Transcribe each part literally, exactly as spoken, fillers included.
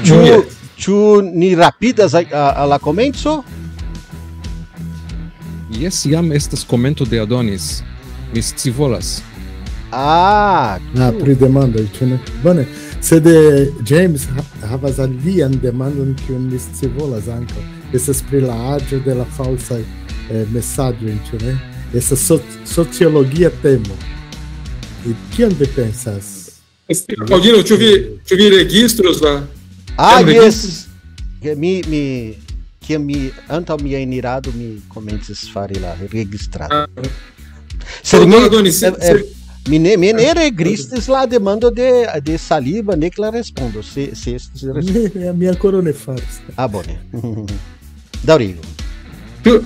Ĉu, ĉu ni rapidas al, al, al la komenco? Jes, jam estas komento de Adonis. Mi scivolas. Ah, ah, pri demandoj, ĉu ne? Bone, sed, eh, James ha-, havas alian demandon, kiun mi scivolas ankaŭ. Estas pri la aĝo de la falsaj, eh, mesaĝoj, ĉu ne? Estas soc-, sociologia temo. I kion vi pensas? Paŭlino, ĉu vi, ĉu vi registros la... Ah, jes. Ke mi, mi, kiam mi, antaŭ mia enirado, mi komencis fari la registrado. Ah. Sed mi, Adonis, eh, eh, mi ne, mi ne registris la demando de, de Saliba, nek la respondo, se, se estis respondo. Mi, mi ankoraŭ ne faris. Ah, bone. Daŭrigu. Ĉu,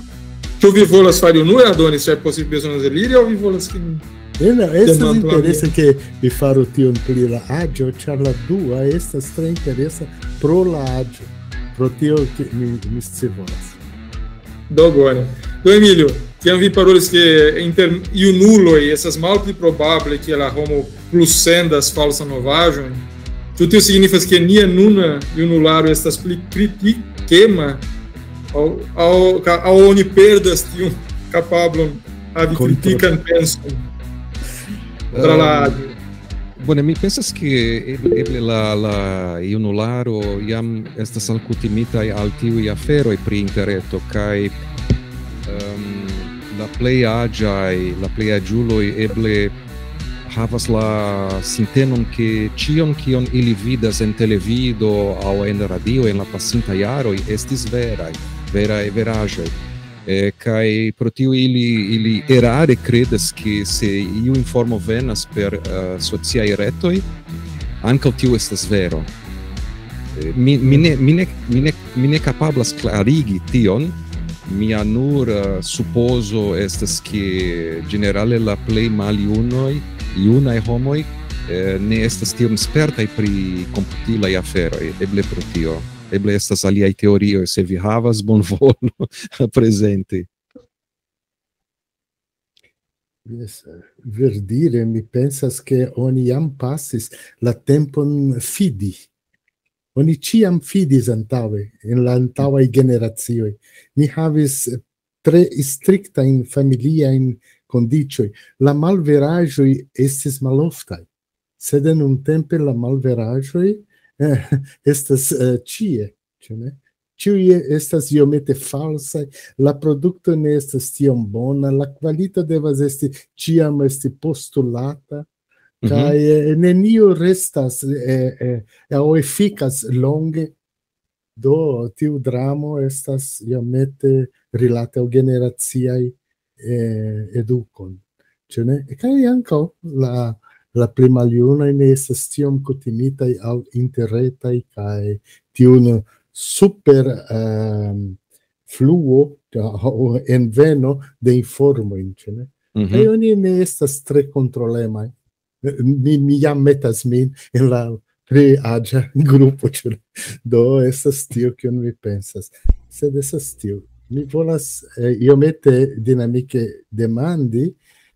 ĉu vi volas fari unue, Adonis, ĉar poste bezonas eliri, aŭ vi volas, ke mi... Ne, ne, estas interese, ke vi faru tion pri la aĝo, ĉar la dua estas tre interesa pro la aĝo. Pro tio, ke mi, mi scivolas. Do, bone. Do, Emilio, kiam vi parolis, ke inter junuloj estas malpli probable, ke la homo plus sendas falsan novaĵon, ĉu tio signifas, ke nia nuna junularo estas pli kritikema, aŭ, aŭ, ka-, aŭ oni perdas tiun kapablon havi kritikan penson kontraŭ la... Ehm, bone, mi pensas, ke eble, eble la, la junularo jam estas alkutimitaj al tiuj aferoj pri interreto, kaj, ehm, la plej aĝaj, la plej aĝuloj eble havas la sintenon, ke ĉion, kion ili vidas en televido aŭ en radio en la pasintaj jaroj, estis veraj, veraj veraĵoj. Eh, kaj pro tio ili, ili erare kredas, ke se iu informo venas per, eh, sociaj retoj, ankaŭ tio estas vero. Eh, mi, mi ne, mi ne, mi ne, mi ne kapablas klarigi tion. Mia nur, eh, supozo estas, ke ĝenerale la plej maljunoj, junaj homoj, eh, ne estas tiom spertaj pri komputilaj aferoj, eble pro tio. Eble estas aliaj teorioj, se vi havas, bonvolu prezenti. Jes, verdire, mi pensas, ke oni jam pasis la tempon fidi. Oni ĉiam fidis antaŭe, en la antaŭaj generacioj. Ni havis tre striktajn familiajn kondiĉoj. La malveraĵoj estis maloftaj, sed nuntempe la malveraĵoj, eh, estas, eh, ĉie, ĉu ne? Ĉiuj estas iomete falsaj, la produkto ne estas tiom bona, la kvalito devas esti, ĉiam esti postulata, mhm, kaj, eh, nenio restas, eh, eh, aŭ efikas longe. Do, tiu dramo estas iomete rilate al generaciaj, eh, edukon. Ĉu ne? Kaj ankaŭ la, la pli maljunaj ne estas tiom kutimitaj al interretaj kaj tiun super, ehm, fluo, aŭ enveno de informojn, ĉu ne? Mhm. Kaj oni ne estas tre kontrolemaj. Mi, mi jam metas min en la plej aĝa grupo, ĉu ne? Do, estas tio, kion mi pensas. Sed estas tio. Mi volas, eh, iomete dinamike demandi,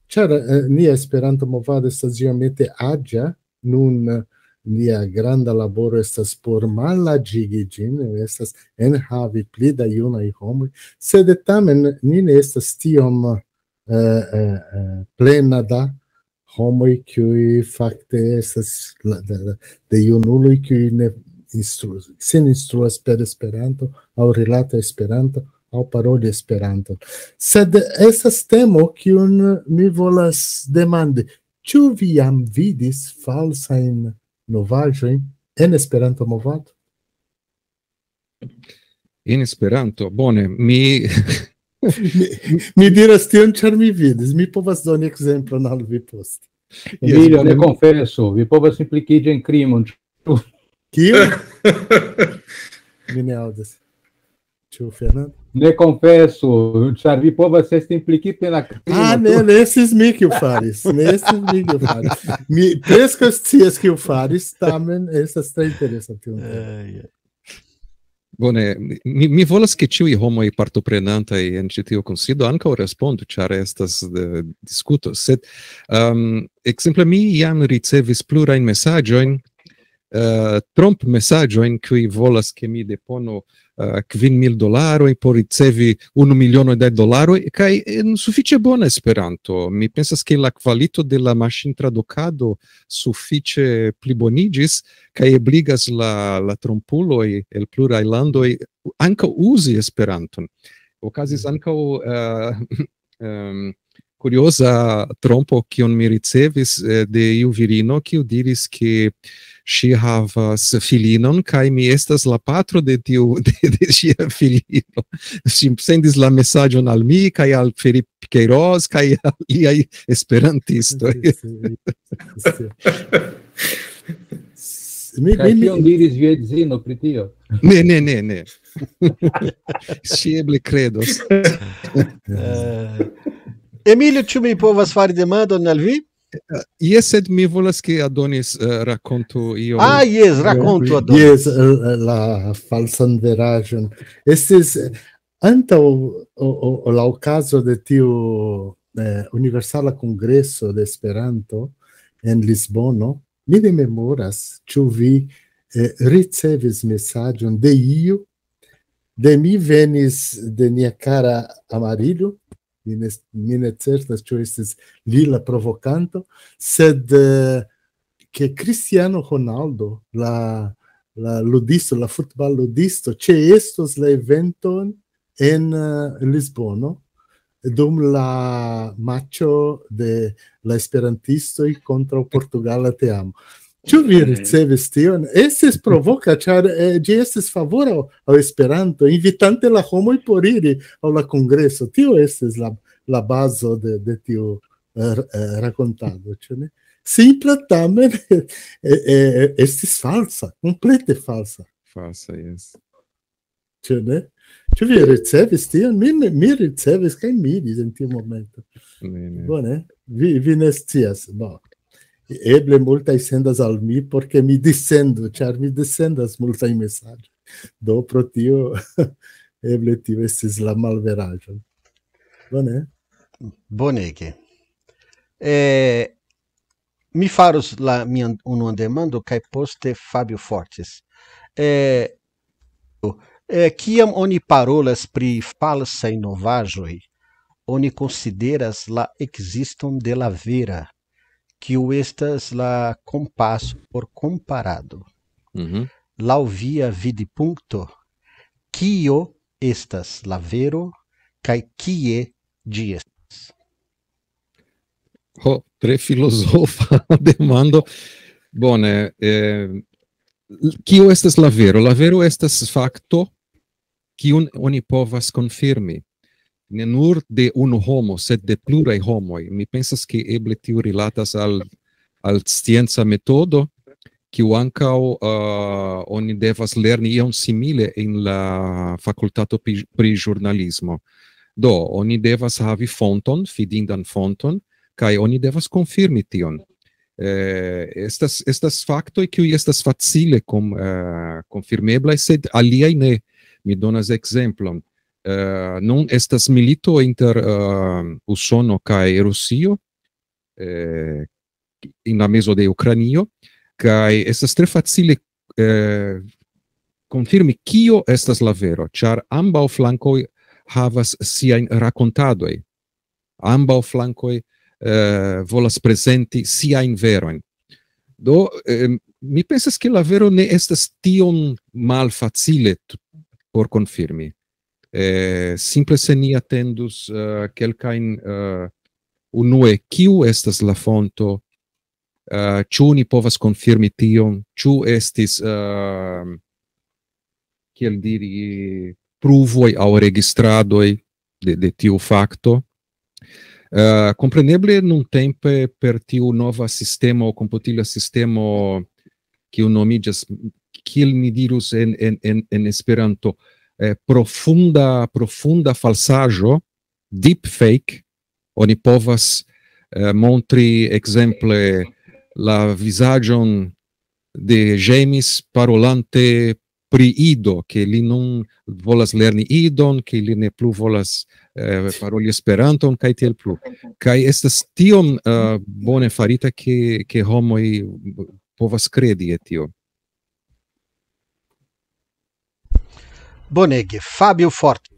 ĉar, eh, nia Esperanto-movado estas iomete aĝa, nun, eh, nia granda laboro estas por malaĝigi ĝin, estas enhavi pli da junaj homoj, sed tamen ni ne estas tiom, eh, eh, eh, plena da homoj, kiuj fakte estas la, de, de, de junuloj, kiuj ne instru-, sin instruas per Esperanto, aŭ rilate Esperanto, aŭ paroli Esperanto. Sed estas temo, kiun mi volas demandi. Ĉu vi jam vidis falsajn novaĵojn en Esperanto-movado? En Esperanto, bone, mi Mi, mi diras tion, ĉar mi vidis. Mi povas doni ekzemplon al vi poste. Jes, Emilio, bone. Ne konfesu, vi povas implikiĝi en krimon. Kiu? Mi ne aŭdis. Ĉu Fernando? Ne konfesu, ĉar vi povas esti implikita en la krimo. Ah, ne, ne estis mi, kiu faris. Ne estis mi, kiu faris. Mi preskaŭ scias, kiu faris, tamen estas tre interesa tion. Eh, ja. Bone, mi, mi volas, ke ĉiuj homoj partoprenantaj en ĉi tiu kunsido ankaŭ respondu, ĉar estas, eh, diskuto. Sed, ehm, ekzemple, mi jam ricevis plurajn mesaĝojn, eh, tromp-mesaĝojn, kiuj volas, ke mi deponu, eh, kvin mil dolaroj por ricevi unu miliono da dolaroj, kaj en sufiĉe bona Esperanto. Mi pensas, ke la kvalito de la maŝintradukado sufiĉe pliboniĝis, kaj ebligas la, la trompuloj el pluraj landoj ankaŭ uzi Esperanton. Okazis ankaŭ, eh, em, kurioza trompo, kiun mi ricevis, eh, de iu virino, kiu diris, ke ŝi havas filinon, kaj mi estas la patro de tiu, de, de ŝia filino. Ŝi sendis la mesaĝon al mi, kaj al Felipe Queiroz, kaj al liaj esperantistoj. Sì, sì, sì. Mi, Kaj mi, mi, kion diris via edzino pri tio? Ne, ne, ne, ne. Ŝi eble kredos. Eh, Emilio, ĉu mi povas fari demandon al vi? Jes, sed mi volas, ke Adonis, eh, rakontu ion. Ah, jes, rakontu, Adonis. Jes, eh, la falsan veraĵon. Estis, eh, antaŭ o, o, o la okazo de tiu, eh, Universala Kongreso de Esperanto en Lisbono. Mi ne memoras, ĉu vi, eh, ricevis mesaĝon de iu. De mi venis de nia kara Amarillo, mi ne, mi ne certas, ĉu estis li la provokanto, sed, eh, ke Cristiano Ronaldo, la, la ludisto, la futballudisto, ĉeestos la eventon en, eh, Lisbono dum la matĉo de la esperantistoj kontraŭ portugala teamo. Ĉu vi ricevis tion? Estis provoka, ĉar, eh, ĝi estis favora al Esperanto, invitante la homoj por iri al la kongreso. Tio estis la, la bazo de, de tiu, eh, eh, rakontado, ĉu ne? Simpla, tamen, eh, eh, estis falsa, komplete falsa. Falsa, jes. Ĉu ne? Ĉu vi ricevis tion? Mi, mi, mi ricevis kaj miris en tiu momento. Ne, ne. Bone, vi, vi ne scias. Bon. Eble multaj sendas al mi, por ke mi dissendu, ĉar mi dissendas multaj mesaĝoj. Do pro tio, eble tio estis la malveraĵo. Bone? Bonege. Eh, mi faros la mian unuan demando, kaj poste Fabio Fortes. Eh, eh, kiam oni parolas pri falsaj novaĵoj, oni konsideras la ekziston de la vera, kiu estas la kompaso por komparado. Mhm. Laŭ via vidpunkto, kio estas la vero kaj kie ĝi estas? Ho, tre filozofa demando. Bone, eh, kio estas la vero? La vero estas fakto, kiun oni povas konfirmi. Ne nur de unu homo, sed de pluraj homoj. Mi pensas, ke eble tio rilatas al, al scienca metodo, kiu ankaŭ, eh, oni devas lerni ion simile en la fakultato pri, pri ĵurnalismo. Do, oni devas havi fonton, fidindan fonton, kaj oni devas konfirmi tion. Eh, estas, estas faktoj, kiuj estas facile kom-, eh, konfirmeblaj, sed aliaj ne. Mi donas ekzemplon. Eh, nun estas milito inter, eh, Usono kaj Rusio, eh, en la mezo de Ukrainio, kaj estas tre facile, eh, konfirmi, kio estas la vero, ĉar ambaŭ flankoj havas siajn rakontadoj. Ambaŭ flankoj, eh, volas prezenti siajn verojn. Do, eh, mi pensas, ke la vero ne estas tiom malfacile t-, por konfirmi. Eh, simple se ni atendus, eh, kelkajn, eh, unue, kiu estas la fonto, eh, ĉu ni povas konfirmi tion, ĉu estis, eh, kiel diri, pruvoj aŭ registradoj de, de tiu fakto. Eh, kompreneble nuntempe per tiu nova sistemo, komputila sistemo, kiu nomiĝas, kiel ni dirus en, en, en, en Esperanto, eh, profunda, profunda falsaĵo, deepfake, oni povas, eh, montri ekzemple la vizaĝon de Ĝemis parolante pri Ido, ke li nun volas lerni Idon, ke li ne plu volas, eh, paroli Esperanton, kaj tiel plu. Kaj estas tiom, eh, bone farita, ke, ke homoj povas kredi je tio. Bonege, Fabio Forte.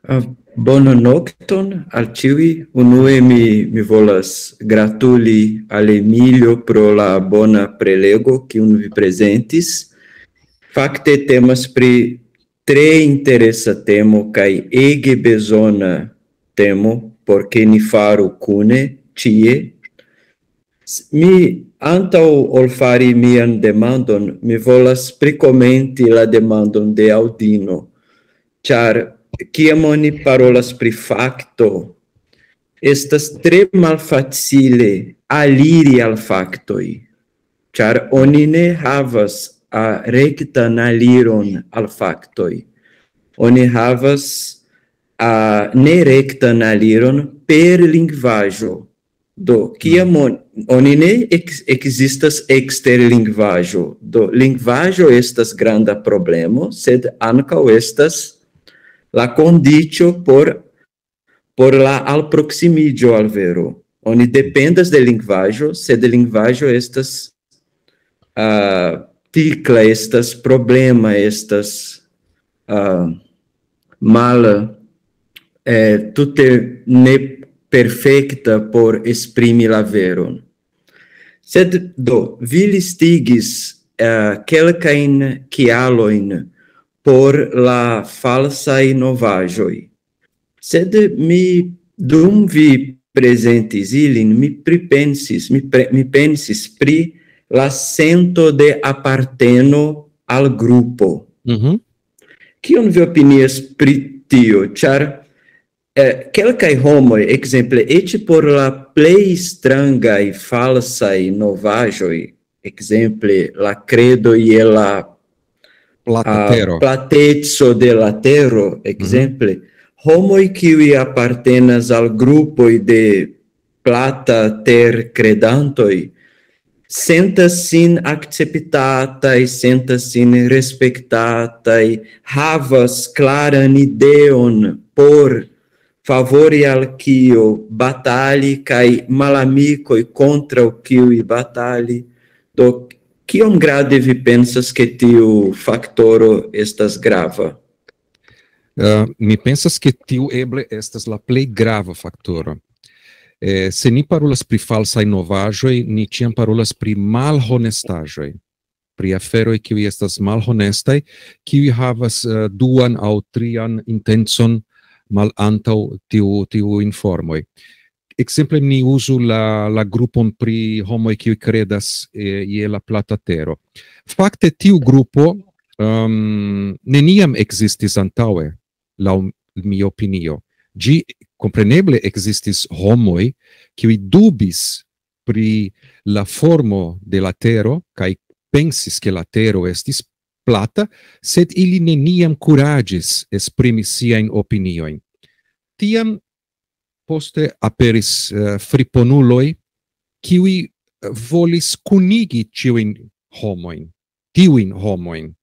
Ah, bonan nokton al ĉiuj. Unue mi, mi volas gratuli al Emilio pro la bona prelego, kiun vi prezentis. Fakte temas pri tre interesa temo kaj ege bezona temo, por ke ni faru kune, ĉie. S-, mi, antaŭ ol fari mian demandon, mi volas prikomenti la demandon de Aŭdino, ĉar kiam oni parolas pri fakto, estas tre malfacile aliri al faktoj, ĉar oni ne havas, ah, rektan aliron al faktoj. Oni havas, ah, nerektan aliron per lingvaĵo. Do, kiam on-, oni ne ex-, ekzistas ekster lingvaĵo. Do, lingvaĵo estas granda problemo, sed ankaŭ estas la kondiĉo por, por la alproksimiĝo al vero. Oni dependas de lingvaĵo, sed lingvaĵo estas, ah, tikla, estas problema, estas, ah, mala, eh, tute ne perfekta por esprimi la veron. Sed do, vi listigis, eh, kelkajn kialojn por la falsaj novaĵoj. Sed mi, dum vi prezentis ilin, mi pripensis, mi pre-, mi pensis pri la sento de aparteno al grupo. Mhm. Kion vi opinias pri tio? Ĉar, eh, kelkaj homoj, ekzemple, eĉ por la plej strangaj falsaj novaĵoj, ekzemple, la kredo je la, Plata ah, tero. Plateco de la tero, ekzemple, homoj, kiuj apartenas al grupoj de plata ter kredantoj, sentas sin akceptataj, sentas sin respektataj, havas klaran ideon por favori al kio batali kaj malamikoj kontraŭ kiuj batali. Do, kiom grade vi pensas, ke tiu faktoro estas grava? Eh, mi pensas, ke tiu eble estas la plej grava faktoro. Eh, se ni parolas pri falsaj novaĵoj, ni ĉiam parolas pri malhonestaĵoj, pri aferoj, kiuj estas malhonestaj, kiuj havas, eh, duan aŭ trian intencon malantaŭ tiu, tiu informoj. Ekzemple, ni uzu la, la grupon pri homoj, kiuj kredas, eh, je la plata tero. Fakte, tiu grupo, ehm, neniam ekzistis antaŭe, laŭ mia opinio. Ĝi kompreneble ekzistis homoj, kiuj dubis pri la formo de la tero kaj pensis, ke la tero estis plata, sed ili neniam kuraĝis esprimi siajn opiniojn. Tiam poste aperis, eh, friponuloj, kiuj, eh, volis kunigi ĉiujn homojn, tiujn homojn.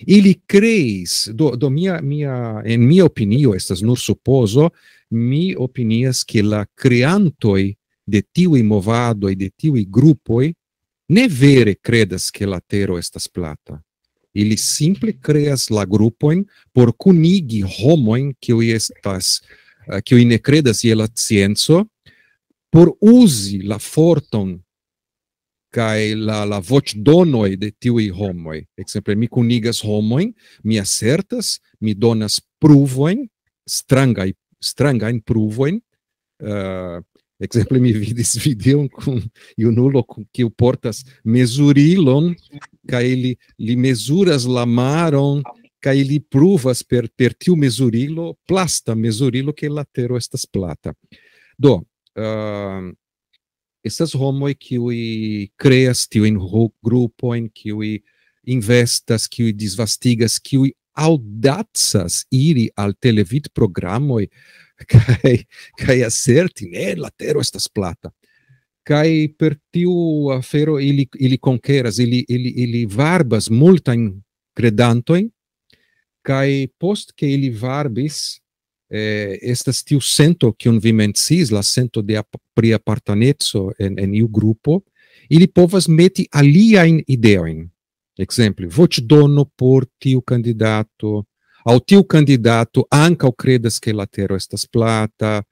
Ili kreis, do, do mia, mia, en mia opinio, estas nur supozo, mi opinias, ke la kreantoj de tiuj movadoj, de tiuj grupoj, ne vere kredas, ke la tero estas plata. Ili simple kreas la grupojn por kunigi homojn, kiuj estas, eh, kiuj ne kredas je la scienco, por uzi la forton kaj la, la voĉdonoj de tiuj homoj. Ekzemple, mi kunigas homojn, mi asertas, mi donas pruvojn, strangaj, strangajn pruvojn. Eh, ekzemple, mi vidis videon kun junulo, kun, kiu portas mezurilon, kaj li, li mezuras la maron, kaj li pruvas per, per tiu mezurilo, plasta mezurilo, ke la tero estas plata. Do, eh, estas homoj, kiuj kreas tiujn ho-, grupojn, kiuj investas, kiuj disvastigas, kiuj aŭdacas iri al televidprogramoj kaj, kaj aserti, ne, la tero estas plata. Kaj per tiu afero ili, ili konkeras, ili, ili, ili varbas multajn kredantojn, kaj post ke ili varbis, eh, estas tiu sento, kiun vi menciis, la sento de ap-, pri apartaneco en, en iu grupo, ili povas meti aliajn ideojn. Ekzemple, voĉdono por tiu kandidato, aŭ tiu kandidato ankaŭ kredas, ke la tero estas plata,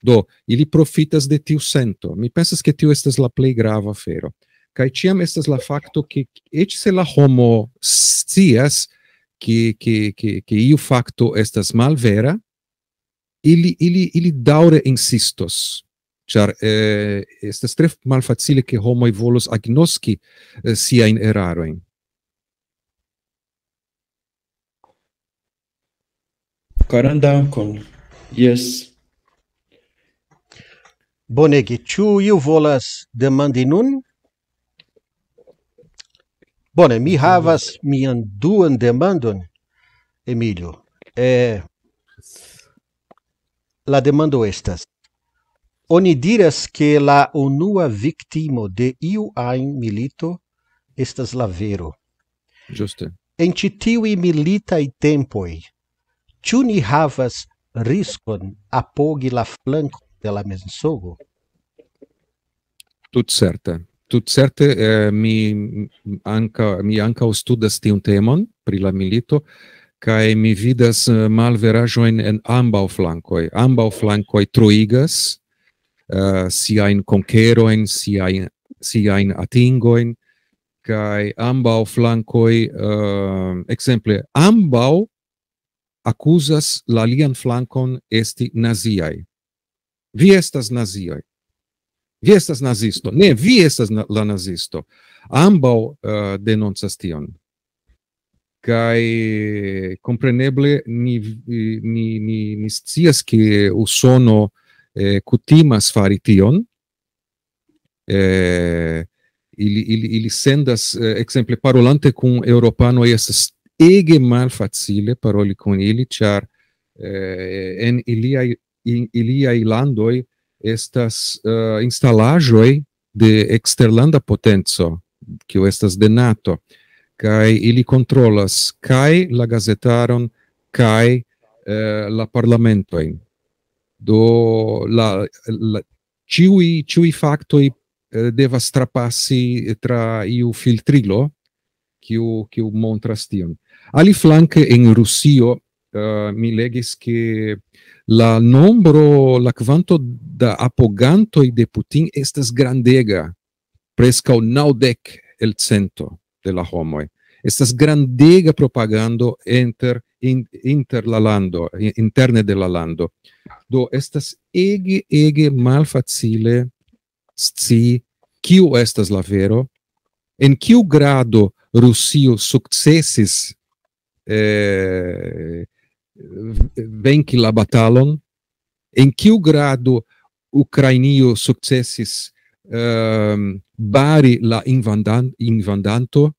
do ili profitas de tiu sento. Mi pensas, ke tio estas la plej grava afero. Kaj ĉiam estas la fakto, ke eĉ se la homo scias, ke, ke, ke, ke iu fakto estas malvera, ili, ili, ili daŭre insistos, ĉar eh, estas tre malfacile, ke homoj volos agnoski eh, siajn erarojn. Karan dankon. Yes. Bonege, ĉu iu volas demandi nun? Bone, mi havas mian duan demandon, Emilio. Eh, la demando estas: oni diras, ke la unua viktimo de iu ajn milito estas la vero. Ĝuste. En ĉi tiuj militaj tempoj, ĉu ni havas riskon apogi la flankon de la mensogo? Tutcerte. Tutcerte eh, mi, anka, mi ankaŭ studas tiun temon pri la milito, kaj mi vidas eh, malveraĵojn en ambaŭ flankoj. Ambaŭ flankoj troigas eh, siajn konkerojn, siajn, siajn atingojn, kaj ambaŭ flankoj, eh, ekzemple, ambaŭ akuzas la alian flankon esti naziaj. Vi estas nazioj. Vi estas nazisto. Ne, vi estas na la nazisto. Ambaŭ uh, denoncas tion. Kaj kompreneble ni, ni, ni, ni scias, ke Usono eh, kutimas fari tion. Eh, ili, ili, ili sendas, eh, ekzemple, parolante kun eŭropanoj, estas ege malfacile paroli kun ili, ĉar eh, en iliaj, in, iliaj landoj estas eh, instalaĵoj de eksterlanda potenco, kiu estas de nato, kaj ili kontrolas kaj la gazetaron, kaj eh, la parlamentojn. Do la, la, ĉiuj, ĉiuj faktoj eh, devas trapasi tra iu filtrilo, kiu, kiu montras tion. Aliflanke en Rusio eh, mi legis, ke la nombro, la kvanto da apogantoj de Putin estas grandega, preskaŭ naŭdek el cento de la homoj. Estas grandega propagando inter, in, inter la lando, i- interne de la lando. Do estas ege, ege malfacile scii kiu estas la vero, en kiu grado Rusio sukcesis eh, v- venki la batalon, en kiu grado Ukrainio sukcesis ehm, bari la invandan, invandanto,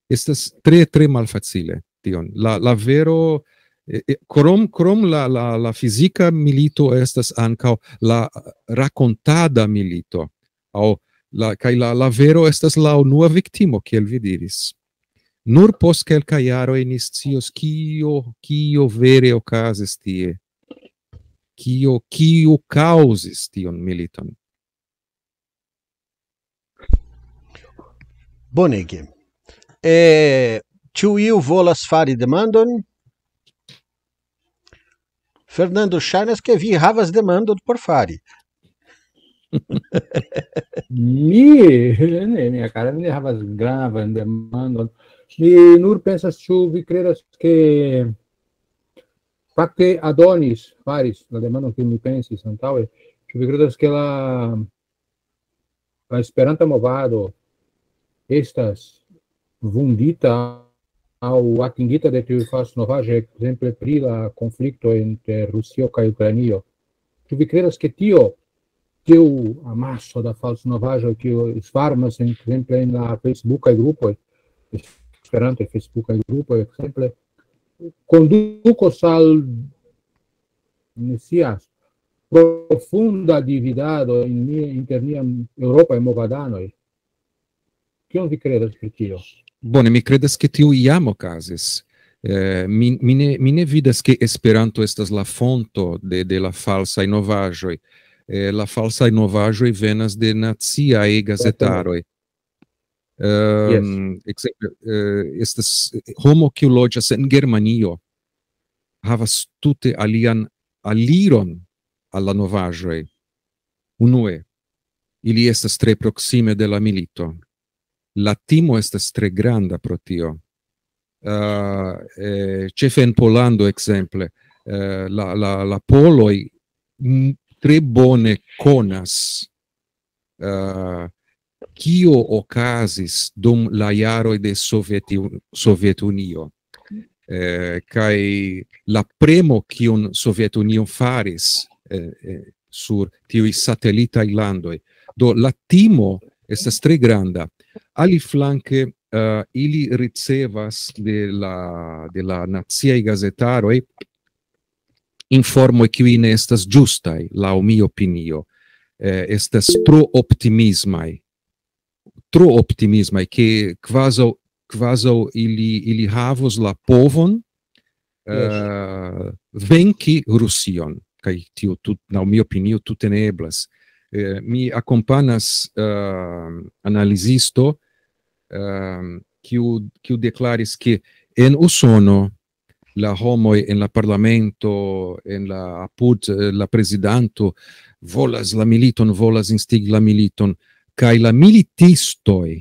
estas tre, tre malfacile tion. La, la vero, eh, eh, krom, krom la, la, la fizika milito estas ankaŭ la rakontada milito. Aŭ la, kaj la, la vero estas la unua viktimo, kiel vi diris. Nur post kelkaj jaroj ni scios, kio, kio vere okazis tie. Kio, kio kaŭzis tion militon. Bonege. Eh, ĉu iu volas fari demandon? Fernando, ŝajnas, ke vi havas demandon por fari. Mi, ne, mia cara, mi ne havas gravan demandon. Mi nur pensas, ĉu vi kredas, ke fakte Adonis faris la demandon, kiun mi pensis antaŭe. Ĉu vi kredas, ke la, la Esperanta movado estas vundita aŭ atingita de tiuj falsnovaĵoj, ekzemple pri la konflikto inter Rusio kaj Ukrainio? Ĉu vi kredas, ke tio, tiu amaso da falsnovaĵoj, kiu svarmas, ekzemple, en la Facebookaj grupoj, Esperanto Facebookaj grupoj, ekzemple, kondukos al, ne scias, profunda dividado en nia, inter niaj eŭropaj movadanoj? Kion vi kredas pri tio? Bone, mi kredas, ke tio jam okazis. Eh, mi, mi, ne, mi ne vidas, ke Esperanto estas la fonto de, de la falsaj novaĵoj. Eh, la falsaj novaĵoj venas de naciaj gazetaroj. Ehm, ekzemple, eh, estas homo kiu loĝas en Germanio, havas tute alian aliron al la novaĵoj. Unue, ili estas tre proksime de la milito. La timo estas tre granda pro tio. Eh, eh, ĉefe en Pollando, ekzemple, eh, la, la, la poloj, mm, tre bone konas, eh, kio okazis dum la jaroj de Sovieti-, Sovetunio. Eh, kaj la premo, kiun Sovetunio faris, eh, eh, sur tiuj satelitaj landoj. Do, la timo estas tre granda. Aliflanke, eh, ili ricevas de la, de la naciaj gazetaroj informoj, kiuj ne estas ĝustaj, laŭ mia opinio. Eh, estas tro optimismaj. Tro optimismaj, ke kvazaŭ, kvazaŭ ili, ili havos la povon, eh, venki Rusion. Kaj tio tut-, laŭ mia opinio, tute ne eblas. Eh, mi akompanas, eh, analizisto, eh, kiu, kiu deklaris, ke en Usono la homoj en la parlamento, en la apud, eh, la prezidanto volas la militon, volas instigi la militon, kaj la militistoj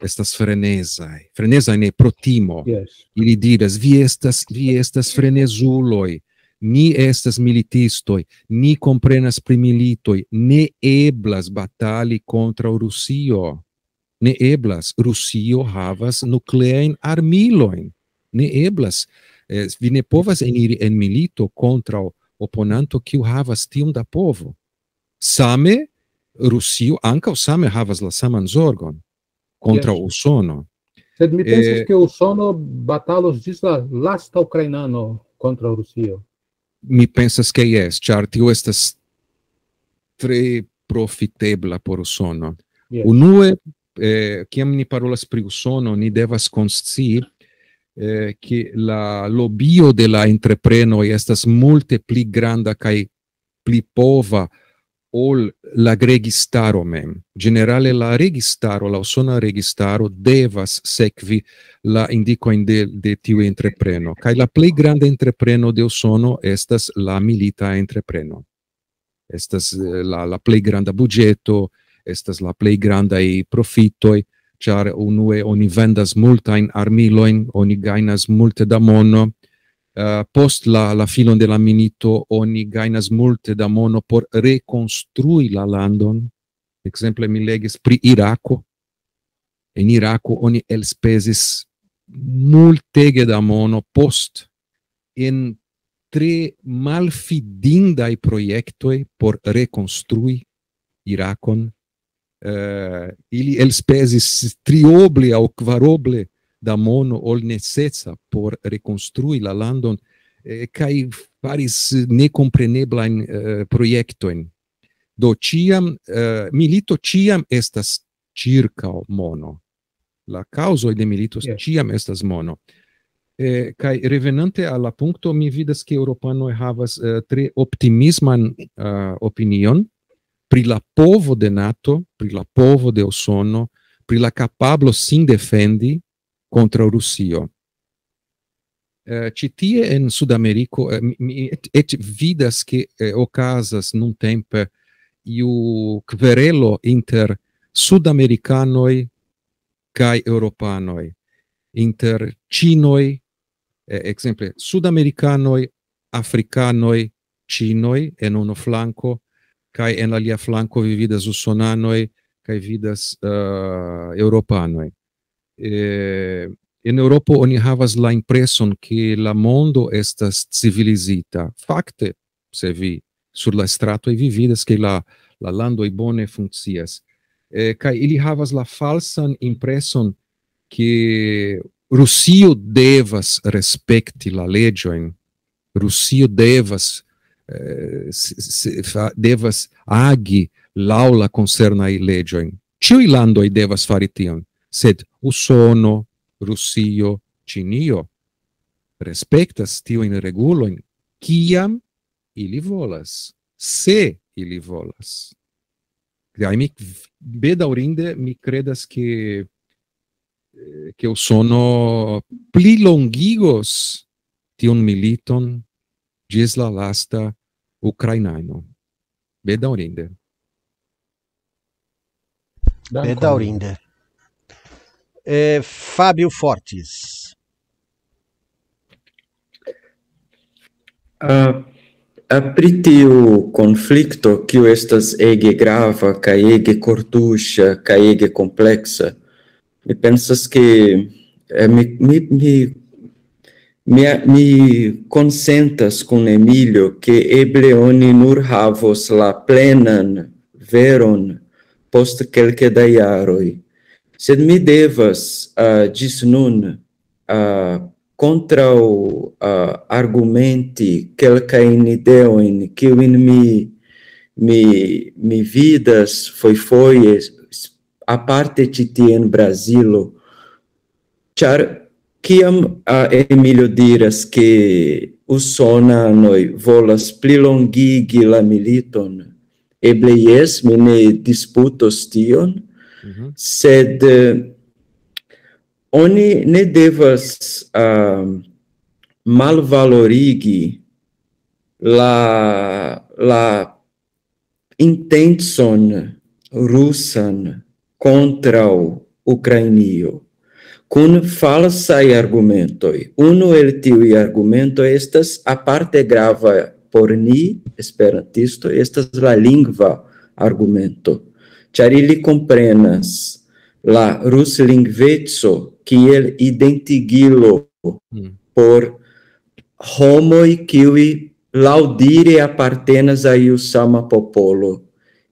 estas frenezaj. Frenezaj ne pro timo. Yes. Ili diras: "Vi estas, vi estas frenezuloj, ni estas militistoj, ni komprenas pri militoj, ne eblas batali kontraŭ Rusio. Ne eblas. Rusio havas nukleajn armilojn. Ne eblas. Eh, vi ne povas eniri en milito kontraŭ oponanto, kiu havas tiom da povo." Same Rusio ankaŭ same havas la saman zorgon kontraŭ Usono. Sed mi pensas, eh, ke Usono batalos ĝis la lasta ukrainano kontraŭ Rusio. Mi pensas, ke jes, ĉar tio estas tre profitebla por Usono. Yes. Unue, eh, kiam ni parolas pri Usono, ni devas konscii, eh, ke la lobio de la entreprenoj estas multe pli granda kaj pli pova ol la registaro mem. Ĝenerale la registaro, la Usona registaro devas sekvi la indikojn de, de tiu entrepreno. Kaj la plej granda entrepreno de Usono estas la milita entrepreno. Estas, eh, la, la plej granda buĝeto, estas la plej grandaj profitoj, ĉar unue oni vendas multajn armilojn, oni gajnas multe da mono. Eh, post la, la finon de la milito oni gajnas multe da mono por rekonstrui la landon. Ekzemple, mi legis pri Irako. En Irako oni elspezis multege da mono post en tre malfidindaj projektoj por rekonstrui Irakon. Eh, ili elspezis trioble aŭ kvaroble da mono ol nececa por rekonstrui la landon, eh, kaj faris nekompreneblajn, eh, projektojn. Do ĉiam, eh, milito ĉiam estas ĉirkaŭ mono. La kaŭzoj de milito, yes, ĉiam estas mono. Eh, kaj revenante al la punkto, mi vidas, ke eŭropanoj havas, eh, tre optimisman, eh, opinion pri la povo de nato, pri la povo de Usono, pri la kapablo sin defendi kontraŭ Rusio. Eh, ĉi tie en Sudameriko, eh, mi, mi eĉ, eĉ vidas, ke, eh, okazas nuntempe iu kverelo inter sudamerikanoj kaj eŭropanoj, inter ĉinoj, eh, ekzemple, sudamerikanoj, afrikanoj, ĉinoj en unu flanko, kaj en alia flanko vi vidas usonanoj, kaj vidas, eh, eŭropanoj. Eh, en Eŭropo oni havas la impreson, ke la mondo estas civilizita. Fakte, se vi sur la stratoj, vi vidas, ke la, la landoj bone funkcias. Eh, kaj ili havas la falsan impreson, ke Rusio devas respekti la leĝojn. Rusio devas, eh, s-, s-, fa-, devas agi laŭ la koncernaj leĝojn. Ĉiuj landoj devas fari tion, sed Usono, Rusio, Ĉinio respektas tiujn regulojn, kiam ili volas, se ili volas. Kaj mi, bedaŭrinde, mi kredas, ke eh, ke Usono plilongigos tiun militon ĝis la lasta ukrainano. Bedaŭrinde. Bedaŭrinde. Eh, Fabio Fortis. Uh, pri tiu konflikto, kiu estas ege grava, kaj ege kortuŝa, kaj ege kompleksa, mi pensas, ke eh, mi, mi, mi, mi, mi konsentas kun Emilio, ke eble oni nur havos la plenan veron post kelke da jaroj. Sed mi devas uh, ĝis nun uh, kontraŭ uh, argumenti kelkajn ideojn, kiujn mi, mi, mi vidas fojfoje, aparte ĉi tie en Brazilo. Ĉar kiam uh, Emilio diras, ke usonanoj volas plilongigi la militon, eble jes, mi ne disputos tion, mm -hmm. sed uh, oni ne devas uh, malvalorigi la, la intencon rusan kontraŭ Ukrainio kun falsaj argumentoj. Unu el tiuj argumentoj estas aparte grava por ni, esperantistoj, estas la lingva argumento, ĉar ili komprenas la ruslingveco kiel identigilo mm. por homoj, kiuj laŭdire apartenas a iu sama popolo.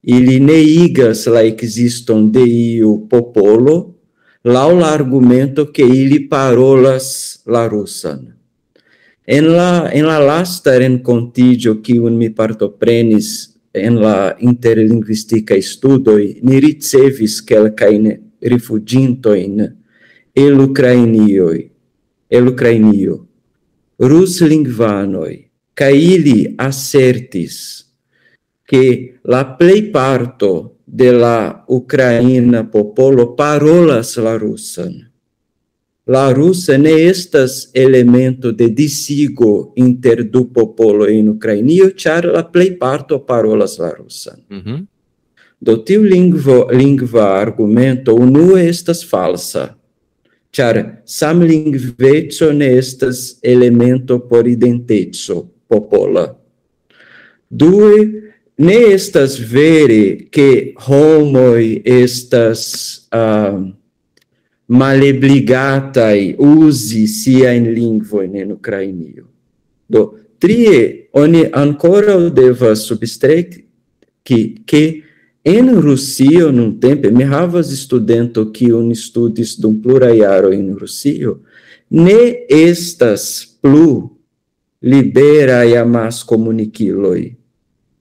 Ili neigas la ekziston de iu popolo laŭ la argumento, ke ili parolas la rusan. En la, en la lasta renkontiĝo, kiun mi partoprenis en la interlingvistikaj studoj, ni ricevis kelkajn rifuĝintojn el Ukrainioj, el Ukrainio, ruslingvanoj, kaj ili asertis, ke la plejparto de la ukraina popolo parolas la rusan. La rusa ne estas elemento de disigo inter du popoloj en Ukrainio, ĉar la plejparto parolas la rusan. Mm -hmm. Do tiu lingvo, lingva argumento unue estas falsa, ĉar samlingveco ne estas elemento por identeco popola. Due, ne estas vere, ke homoj estas uh, malebligataj uzi siajn lingvojn en Ukrainio. Do, trie, oni ankoraŭ devas substreki, ke en Rusio nuntempe, mi havas studento, kiun studis dum pluraj jaroj en Rusio, ne estas plu liberaj amaskomunikiloj.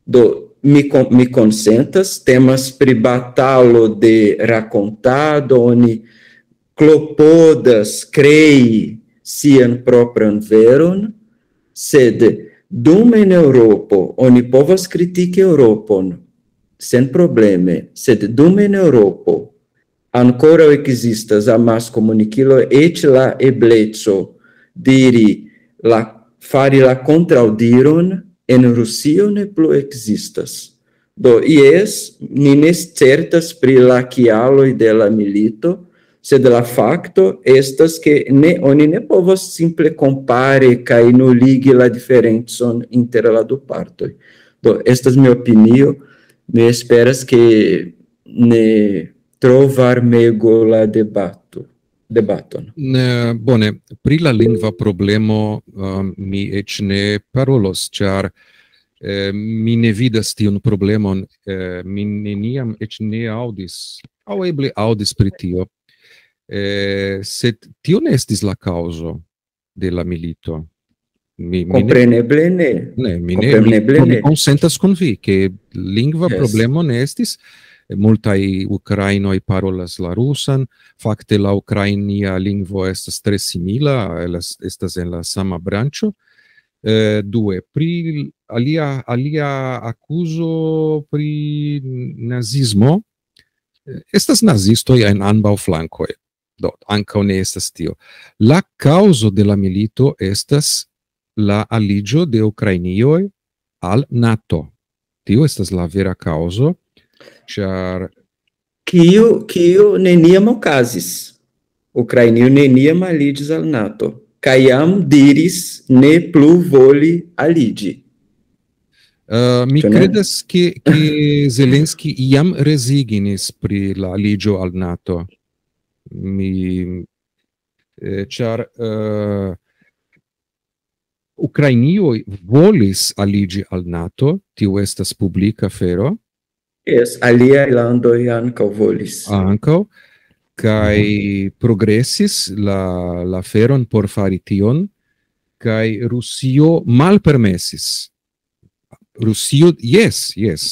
Do, mi, mi konsentas, temas pri batalo de rakontado, oni klopodas krei sian propran veron, sed dum en Eŭropo oni povas kritiki Eŭropon sen probleme, sed dum en Eŭropo ankoraŭ ekzistas amaskomunikilo, eĉ la ebleco diri la, fari la kontraŭdiron en Rusio ne plu ekzistas. Do, jes, ni ne certas pri la kialoj de la milito, sed la fakto estas, ke ne, oni ne povas simple kompare kaj nuligi la diferencon inter la du partoj. Do, estas mia opinio, mi esperas, ke ne tro varmego la debato, debaton. Ne, bone, pri la lingva problemo um, mi eĉ ne parolos, ĉar eh, mi ne vidas tiun problemon, eh, mi neniam eĉ ne aŭdis, aŭ eble aŭdis pri tio, eh, sed tio ne estis la kaŭzo de la milito. Mi, mi ne, Kompreneble ne. ne, mi ne, mi, Kompreneble mi ne. konsentas kun vi, ke lingva Yes. problemo ne estis. Multaj ukrainoj parolas la rusan. Fakte la ukrainia lingvo estas tre simila, el-, estas en la sama branĉo. Eh, due, pri alia, alia akuzo pri nazismo. Eh, Estas nazistoj en ambaŭ flankoj. Do, ankaŭ ne estas tio. La kaŭzo de la milito estas la aliĝo de Ukrainioj al NATO. Tio estas la vera kaŭzo, ĉar Kiu, kiu neniam okazis. Ukrainio neniam aliĝis al NATO. Kaj jam diris ne plu voli aliĝi. Uh, mi Ĉu ne? Credas, ke, ke Zelenski jam rezignis pri la aliĝo al NATO. Mi, eh, ĉar uh, Ukrainioj volis aliĝi al NATO, tio estas publika afero, Jes, aliaj landoj ankaŭ volis. Ankaŭ, kaj progresis la, la aferon por fari tion, kaj Rusio malpermesis. Rusio, jes, jes.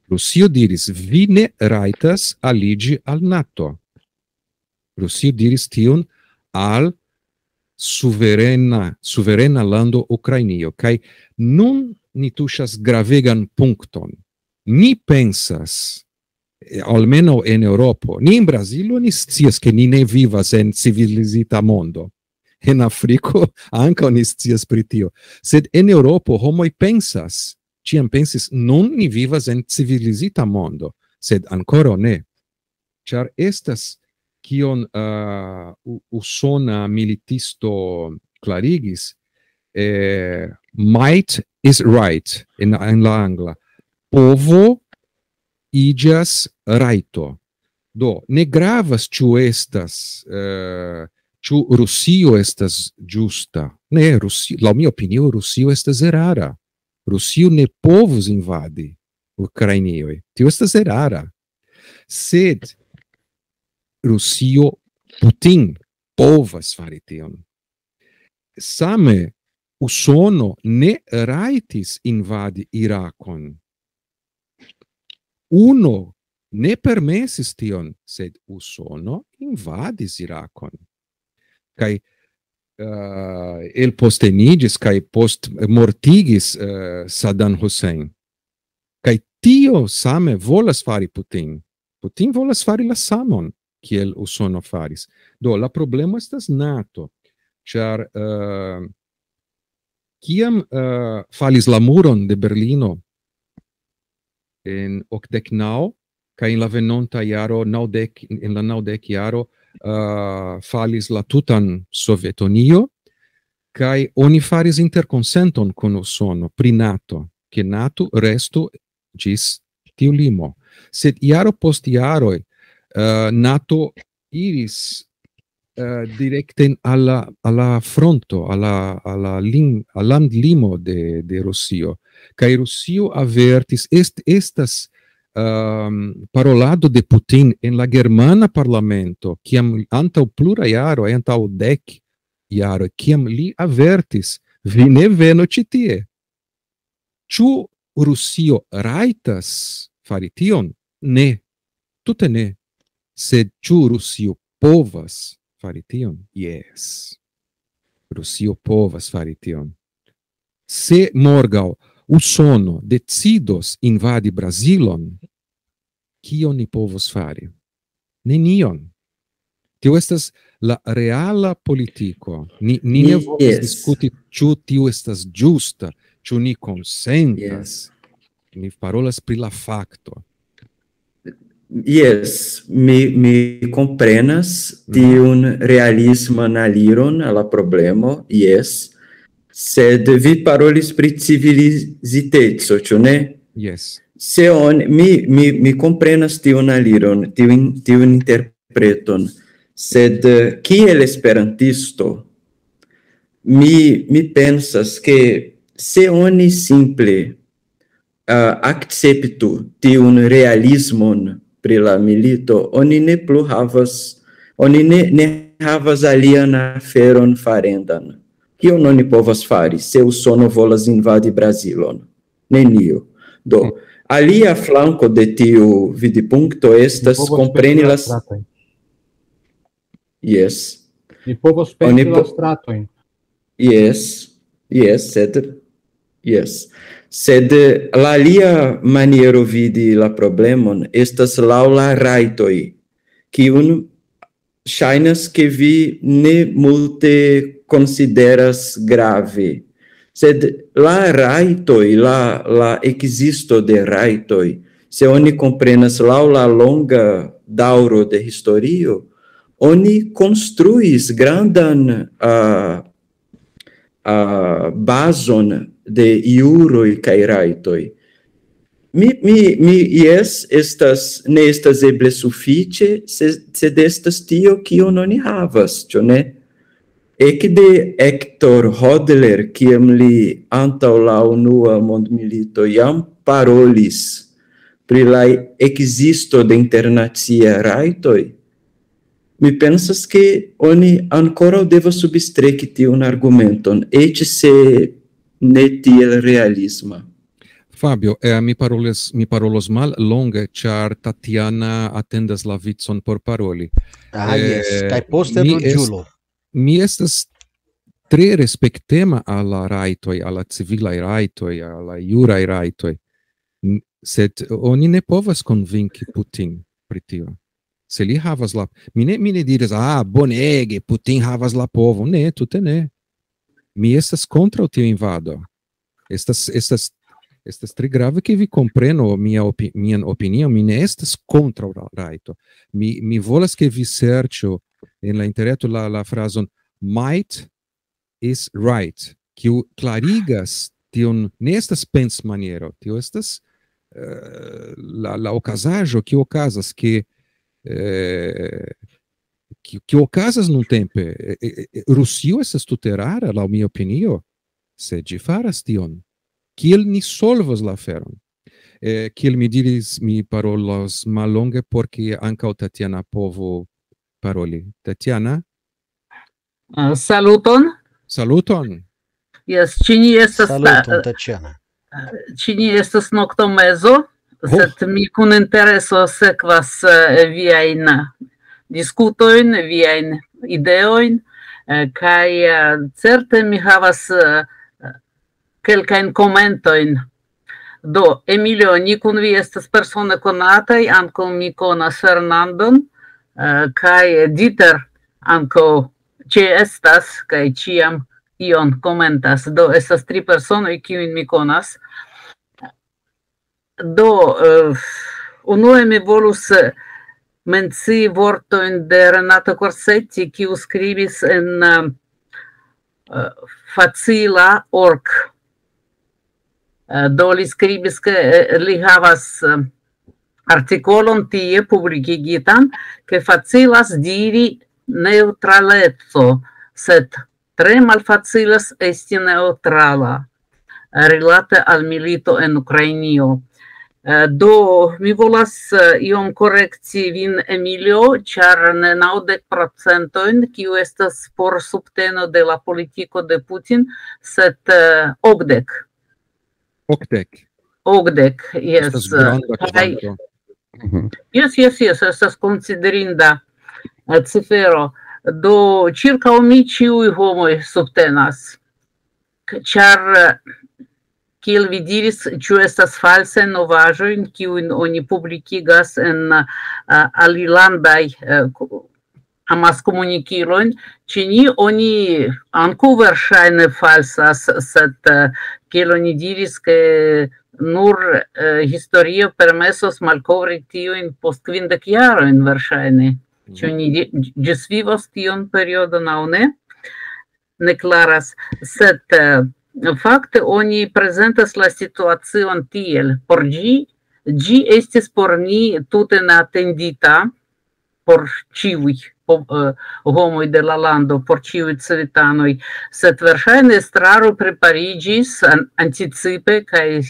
Rusio diris, vi ne rajtas aliĝi al NATO. Rusio diris tion al suverena, suverena lando Ukrainio. Kaj nun ni tuŝas gravegan punkton. Ni pensas, eh, almenaŭ en Eŭropo, ni en Brazilo ni scias, ke ni ne vivas en civilizita mondo. En Afriko ankaŭ ni scias pri tio. Sed en Eŭropo homoj pensas, ĉiam pensis, nun ni vivas en civilizita mondo, sed ankoraŭ ne. Ĉar estas kion uh, usona militisto klarigis, eh, might is right en, en la angla. Povo iĝas rajto. Do, ne gravas, ĉu estas, eh, ĉu Rusio estas ĝusta. Ne, Rusio, laŭ mia opinio, Rusio estas erara. Rusio ne povus invadi Ukrainioj. Tio estas erara. Sed Rusio, Putin povas fari tion. Same Usono ne rajtis invadi Irakon. Uno ne permesis tion, sed Usono invadis Irakon. Kaj uh, el posteniĝis kaj post mortigis uh, Saddam Hussein. Kaj tio same volas fari Putin. Putin volas fari la samon kiel Usono faris. Do, la problemo estas NATO, ĉar uh, kiam uh, falis la muron de Berlino en okdek naŭ, kaj en la venonta jaro, naŭdek, en la naŭdek jaro, uh, falis la tutan Sovetunio, kaj oni faris interkonsenton kun Usono pri NATO, ke NATO restu ĝis tiu limo. Sed jaro post jaroj, uh, NATO iris uh, direkten al la, al la fronto, al la, al la lim, al landlimo de, de Rusio. Kaj Rusio avertis, est, estas um, parolado de Putin en la germana parlamento, kiam antaŭ plura jaro, antaŭ dek jaro, kiam li avertis, vi ne venu ĉi tie. Ĉu Rusio rajtas fari tion? Ne, tute ne. Sed ĉu Rusio povas fari tion? Jes. Rusio povas fari tion. Se morgaŭ Usono decidos invadi Brazilon, kion ni povos fari? Nenion. Tio estas la reala politiko. Ni, ni ne volas yes. diskuti, ĉu tio estas ĝusta, ĉu ni konsentas. Yes. Ni parolas pri la fakto. Yes, mi, mi komprenas tiun realisman aliron al la problemo, yes. Sed vi parolis pri civiliziteco, ĉu ne? Yes. Se on, mi, mi, mi komprenas tiun aliron, tiun, tiun interpreton, sed eh, kiel esperantisto, mi, mi pensas, ke se oni simple uh, akceptu tiun realismon pri la milito, oni ne plu havas, oni ne, ne havas alian aferon farendan. Kion oni povas fari, se Usono volas invadi Brazilon? Nenio. Do, alia flanko de tiu vidipunkto estas kompreni las... Yes. Ni povos pensi la stratojn. Yes, yes, sed, yes. Sed la alia maniero vidi la problemon estas laŭ la rajtoj. kiun ŝajnas, ke vi ne multe konsideras grave. Sed la rajtoj, la, la ekzisto de rajtoj, se oni komprenas laŭ la longa daŭro de historio, oni konstruis grandan, ah, ah, bazon de juroj kaj rajtoj. Mi, mi, mi, jes, estas, ne estas eble sufiĉe, se-, sed estas tio, kion oni havas, ĉu ne? Ekde Hector Hodler, kiam li antaŭ la Unua Mondmilito jam parolis pri la ekzisto de internacia rajtoj, mi pensas, ke oni ankoraŭ devas substreki tiun argumenton, eĉ se ne tiel realisma. Fabio, eh, mi parolis, mi parolos mal longe, ĉar Tatiana atendas la vicon por paroli. Ah, jes, Eh, kaj poste mi est-, Ruĝulo. Mi estas tre respektema al la rajtoj, al la civilaj rajtoj, al la juraj rajtoj. N-, sed oni ne povas konvinki Putin pri tio. Se li havas la, mi ne, mi ne diras, "Ah, bonege, Putin havas la povo." Ne, tute ne. Mi estas kontraŭ tiu invado. Estas, estas, estas tre grave, ke vi komprenu mia opi-, mian opinion. Mi ne estas kontraŭ ra-, rajto. Mi, mi volas, ke vi serĉu en la interreto la, la frazon "might is right", kiu klarigas tion, ne estas pensmaniero, tio estas, eh, la, la okazaĵo, kio okazas, ke, eh, kio, kio okazas nuntempe. Eh, eh, eh, Rusio estas tute erara, laŭ mia opinio, se ĝi faras tion. Kiel ni solvos la aferon? Eh, kiel mi diris, mi parolos mallonge, por ke ankaŭ Tatiana povu paroli. Tatiana? Ah, saluton. Saluton. Jes, ĉi ni estas Saluton, ta-, Tatiana. Ĉi ni estas noktomezo, Oh. sed mi kun intereso sekvas, eh, viajn diskutojn, viajn ideojn, eh, kaj, eh, certe mi havas, eh, kelkajn komentojn. Do, Emilio, ni kun vi estas persone konataj, ankaŭ mi konas Fernandon, eh, kaj Dieter ankaŭ ĉeestas kaj ĉiam ion komentas. Do, estas tri personoj, kiujn mi konas. Do, eh, unue mi volus, eh, mencii vortojn de Renato Corsetti, kiu skribis en, eh, eh, facila org. Eh, do li skribis, ke, eh, li havas, eh, artikolon tie publikigitan, ke facilas diri neŭtraleco, sed tre malfacilas esti neŭtrala, eh, rilate al milito en Ukrainio. Eh, do, mi volas, eh, iom korekti vin, Emilio, ĉar ne naŭdek procentojn, kiu estas por subteno de la politiko de Putin, sed, eh, okdek. Okdek. Okdek, jes. Estas granda Kaj kvanto. Mhm. Jes, jes, jes, estas konsiderinda, eh, cifero. Do, ĉirkaŭ mi ĉiuj homoj subtenas. K-, ĉar, eh, kiel vi diris, ĉu estas falsaj novaĵoj, kiujn oni publikigas en, eh, alilandaj, eh, ku-, amaskomunikilojn, ĉe ni oni ankaŭ verŝajne falsas, sed, eh, kiel oni diris, ke nur, eh, historio permesos malkovri tiujn post kvindek jarojn verŝajne. Ĉu ni di-, ĝisvivos tiun periodon aŭ ne? Ne klaras, sed, eh, fakte oni prezentas la situacion tiel. Por ĝi, ĝi estis por ni tute neatendita, por ĉiuj po-, eh, homoj de la lando, por ĉiuj civitanoj, sed verŝajne estraro prepariĝis an-, anticipe kaj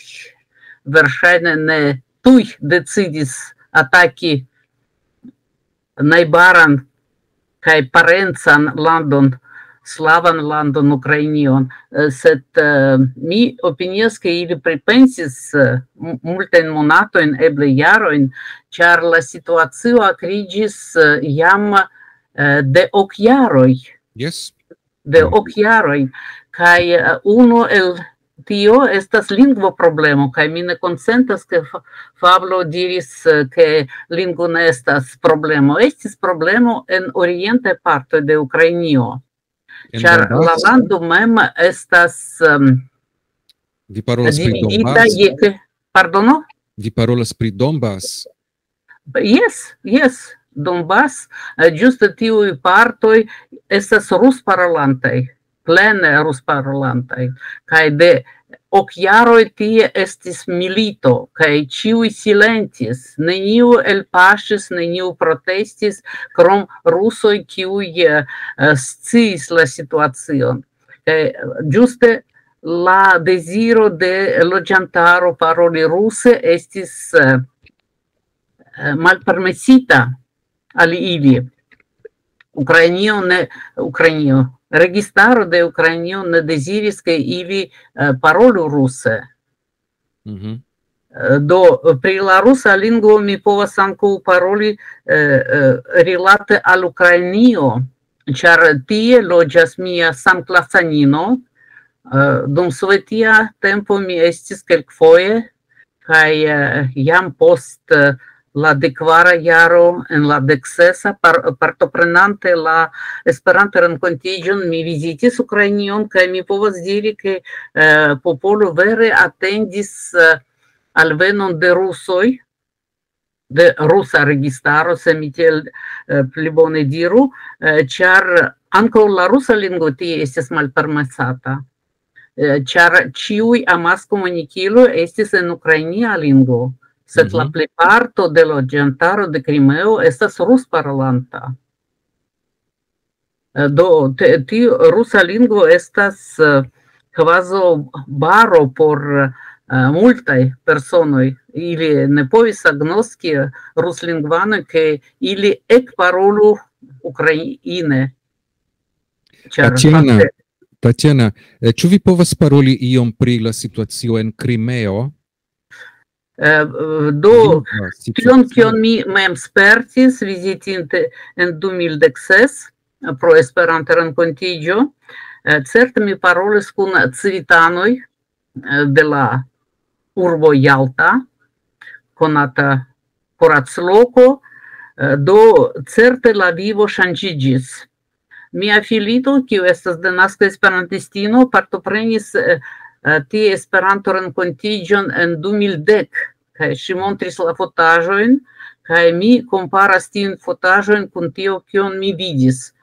verŝajne ne tuj decidis ataki najbaran kaj parencan landon, slavan landon, Ukrainion. Eh, sed, eh, mi opinias, ke ili pripensis, eh, m-, multajn monatojn, eble jarojn, ĉar la situacio akriĝis, eh, jam, eh, de ok jaroj. Jes. De ok jaroj. Kaj, eh, unu el tio estas lingvo problemo, kaj mi ne konsentas, ke Pablo diris, ke lingvo ne estas problemo. Estis problemo en orientaj partoj de Ukrainio, ĉar la lando mem estas um, Vi parolas pri Donbass? Pardono? Vi parolas pri Donbass? Jes, jes, Donbass, ĝuste tiuj partoj estas rusparolantaj, plene rusparolantaj, kaj de ok jaroj tie estis milito, kaj ĉiuj silentis, neniu elpaŝis, neniu protestis, krom rusoj, kiuj sciis la situacion. Ĝuste la deziro de loĝantaro paroli ruse estis malpermesita al ili. Ukrainio ne, Ukrainio, registaro de Ukrainio ne deziris, ke ili parolu ruse. Do, pri la rusa lingvo mi povas ankaŭ paroli rilate al Ukrainio, ĉar tie loĝas mia samklasanino. Dum sovetia tempo mi estis kelkfoje, kaj jam post la dekvara jaro, en la deksesa, partoprenante la Esperanto-renkontiĝon, mi vizitis Ukrainion, kaj mi povas diri, ke popolo vere atendis alvenon de rusoj, de rusa registaro, se mi tiel pli bone diru, ĉar ankaŭ la rusa lingvo tie estis malpermesata, ĉar ĉiuj amaskomunikiloj estis en ukrainia lingvo, sed la plejparto de loĝantaro de Krimeo estas rusparolanta. Do, tiu rusa lingvo estas kvazaŭ baro por multaj personoj. Ili ne povis agnoski ruslingvanoj, ke ili ekparolu ukraine. Tatjana, Tatjana, ĉu vi povas paroli iom pri la situacio en Krimeo? Do, tion, kion mi mem spertis vizitinte en du mil dek ses pro Esperanto-renkontiĝo, certe mi parolis kun civitanoj de la urbo Jalta, konata kuracloko, do certe la vivo ŝanĝiĝis. Mia filito, kiu estas denaska esperantistino, partoprenis tie Esperanto-renkontiĝon en du mil dek, kaj ŝi montris la fotaĵojn, kaj mi komparas tiujn fotaĵojn kun tio, kion mi vidis.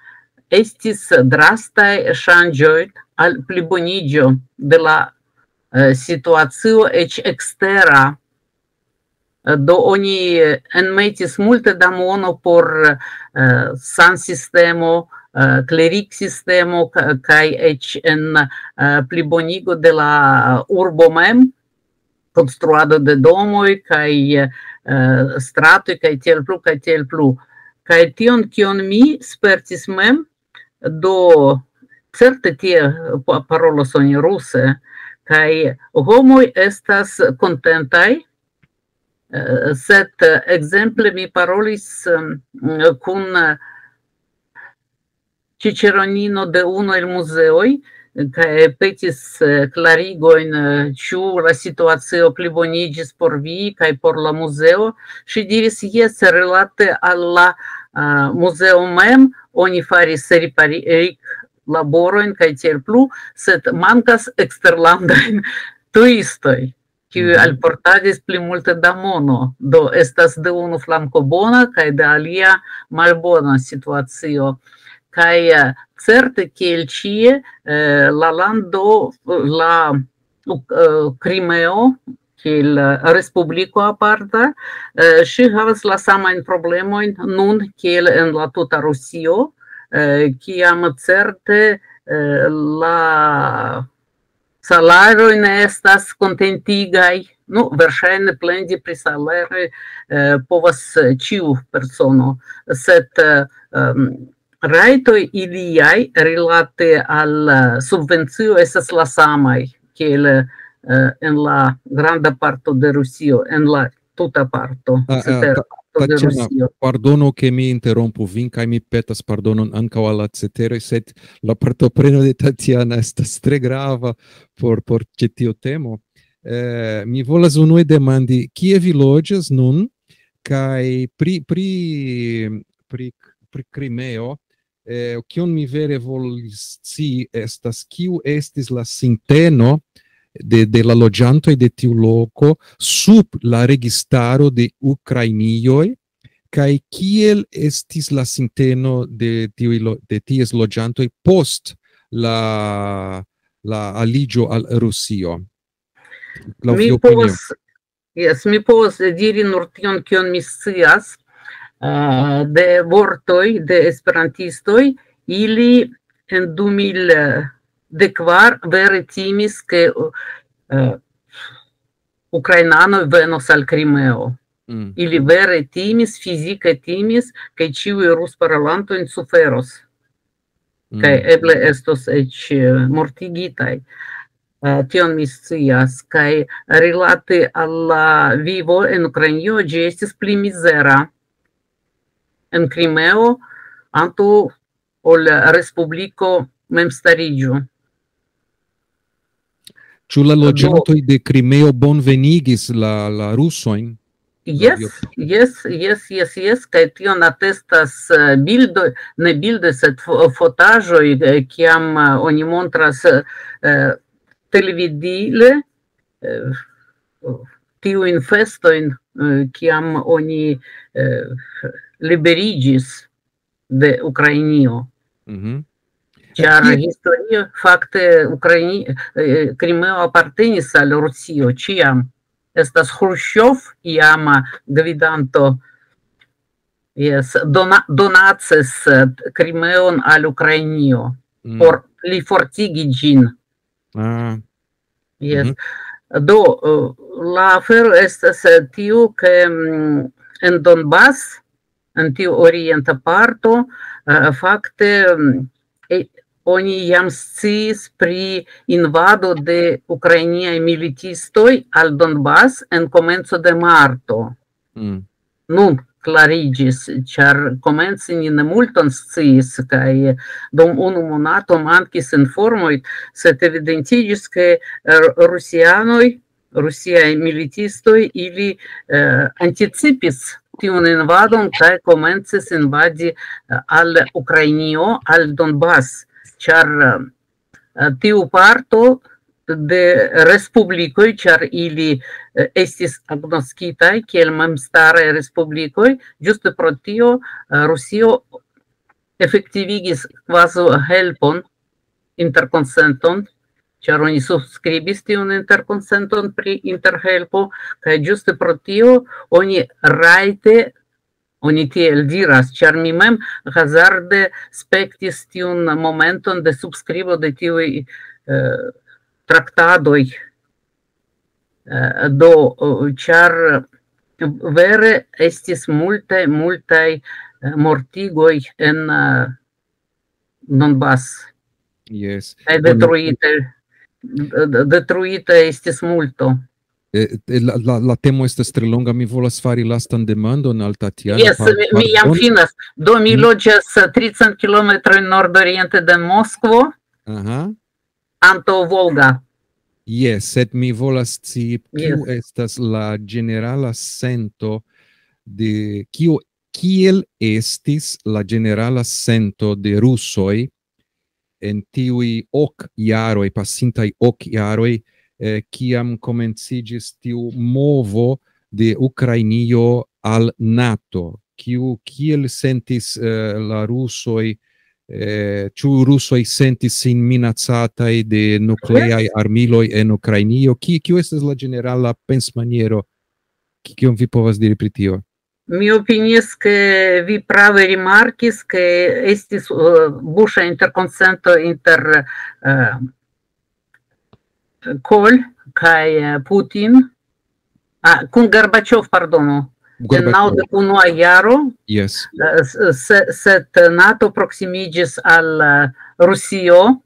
Estis drastaj ŝanĝoj al pliboniĝo de la situacio, eĉ ekstera. Do oni enmetis multe da mono por sansistemo, kleriksistemo, kaj eĉ en plibonigo de la urbo mem, konstruado de domoj kaj stratoj kaj tiel plu, kaj tiel plu. Kaj tion, kion mi spertis mem, do certe tie parolos oni ruse, kaj homoj estas kontentaj, sed ekzemple mi parolis kun ĉiĉeronino de unu el muzeoj, kaj petis klarigojn, ĉu la situacio pliboniĝis por vi kaj por la muzeo. Ŝi diris, jes, relate al la muzeo mem oni faris reparilaborojn kaj tiel plu, sed mankas eksterlandajn turistoj, kiuj alportadis pli multe da mono. Do estas de unu flanko bona kaj de alia malbona situacio. Kaj certe, kiel ĉie, la lando, la Krimeo, kiel respubliko aparta, ŝi havas la samajn problemojn nun kiel en la tuta Rusio, kiam certe la salaroj ne estas kontentigaj. Nu, verŝajne plendi pri salaroj povas ĉiu persono, sed rajtoj iliaj rilate al subvencio estas la samaj kiel en la granda parto de Rusio, en la tuta parto. parto de Tatiana, Rusio. Pardonu, ke mi interrompu vin, kaj mi petas pardonon ankaŭ al la ceteroj, sed la partopreno de Tatiana estas tre grava por, por ĉi tiu temo. Eh, mi volas unue demandi, kie vi loĝas nun, kaj pri, pri, pri, pri Krimeo, eh, kion mi vere volis scii estas, kiu estis la sinteno de, de la loĝantoj de tiu loko sub la registaro de Ukrainioj, kaj kiel estis la sinteno de tiuj lo-, de ties loĝantoj post la, la aliĝo al Rusio? Laŭ Mi via opinio? Povas, yes, mi povas diri nur tion, kion mi scias, eh, de vortoj de esperantistoj, ili en du mil dekvar vere timis, ke, eh, ukrainanoj venos al Krimeo. Mm. Ili vere timis, fizike timis, ke ĉiuj rusparolantojn suferos. Mm. Kaj eble estos eĉ, eh, mortigitaj. Eh, tion mi scias. Kaj rilate al la vivo en Ukrainio, ĝi estis pli mizera en Krimeo antaŭ ol respubliko memstariĝo. Ĉu la Do- loĝantoj de Krimeo bonvenigis la, la rusojn? Yes, Laŭ via- yes, yes, yes, yes, kaj tion atestas, eh, bildoj, ne bildoj, sed fo-, fotaĵoj, eh, kiam, eh, oni montras, eh, televidile, eh, tiujn festojn, eh, kiam oni, eh, liberiĝis de Ukrainio. Mhm. Ĉar Ki- historie, fakte, Ukraini-, eh, Krimeo apartenis al Rusio ĉiam. Estas Hrusjov, iama gvidanto, yes, dona-, donacis, eh, Krimeon al Ukrainio Mm. por pli fortigi ĝin. Ah. Yes. Mhm. Do, eh, la afero estas, eh, tiu, ke, mm, en Donbas, en tiu orienta parto, eh, fakte, mm, e-, oni jam sciis pri invado de ukrainiaj militistoj al Donbas en komenco de marto. Mm. Nun klariĝis, ĉar komence ni ne multon sciis, kaj dum unu monato mankis informoj, sed evidentiĝis, ke, eh, rusianoj, rusiaj militistoj, ili, eh, anticipis tiun invadon kaj komencis invadi, eh, al Ukrainio, al Donbas, ĉar, eh, tiu parto de respublikoj, ĉar ili, eh, estis agnoskitaj kiel memstaraj respublikoj, ĝuste pro tio, eh, Rusio efektivigis kvazaŭ helpon, interkonsenton, ĉar oni subskribis tiun interkonsenton pri interhelpo, kaj ĝuste pro tio oni rajte, oni tiel diras, ĉar mi mem hazarde spektis tiun momenton de subskribo de tiuj, eh, traktadoj. Eh, do, eh, ĉar vere estis multaj, multaj, eh, mortigoj en, eh, Donbas. Yes. Kaj Bon, detruite, de-, detruite estis multo. Eh, eh, la, la, la temo estas tre longa, mi volas fari lastan demandon al Tatiana. Yes, Pa-, mi, mi jam pardon. Finas. Do, mi Mm. loĝas, eh, tricent kilometrojn nordoriente de Moskvo, Aha. antaŭ Volga. Yes, sed mi volas scii, kiu Yes. estas la ĝenerala sento de, kiu, kiel estis la ĝenerala sento de rusoj en tiuj ok jaroj, pasintaj ok jaroj, eh, kiam komenciĝis tiu movo de Ukrainio al nato? Kiu, kiel sentis, eh, la rusoj, eh, ĉu rusoj sentis sin minacataj de nukleaj Yes. armiloj en Ukrainio? Ki-, kiu estas la ĝenerala pensmaniero? Ki-, kion vi povas diri pri tio? Mi opinias, ke vi prave rimarkis, ke estis, eh, buŝa interkonsento inter, eh, Kohl kaj, eh, Putin, ah, kun Gorbaĉov, pardono, en Gorbaĉov. naŭdek unua jaro, Yes. eh, s-, se-, sed nato proksimiĝis al, eh, Rusio,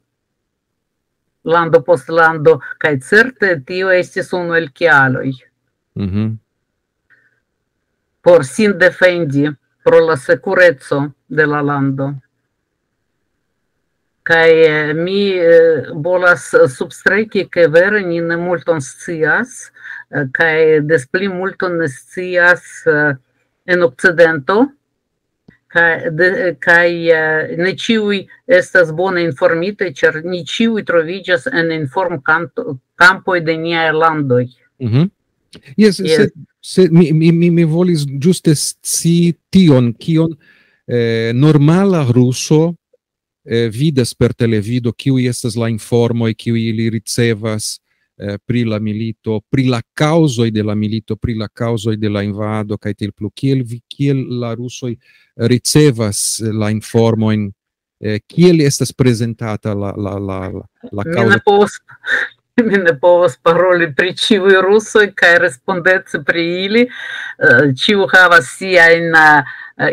lando post lando, kaj certe tio estis unu el kialoj. Mhm. por sin defendi, pro la sekureco de la lando. Kaj, eh, mi, eh, volas substreki, ke vere ni ne multon scias, eh, kaj des pli multon ne scias, eh, en Okcidento, kaj de, kaj, eh, ne ĉiuj estas bone informitaj, ĉar ni ĉiuj troviĝas en inform-, kampoj de niaj landoj. Mhm. Jes, yes, sed, sed mi, mi, mi, mi volis ĝuste scii tion, kion, eh, normala ruso, eh, vidas per televido, kiuj estas la informoj, kiuj ili ricevas, eh, pri la milito, pri la kaŭzoj de la milito, pri la kaŭzoj de la invado, kaj tiel plu. Kiel vi, kiel la rusoj ricevas la informojn, eh, kiel estas prezentata la, la, la, la, la Mi ne kaŭzo? povas, mi ne povas paroli pri ĉiuj rusoj kaj respondeci pri ili. Eh, ĉiu havas siajn, eh,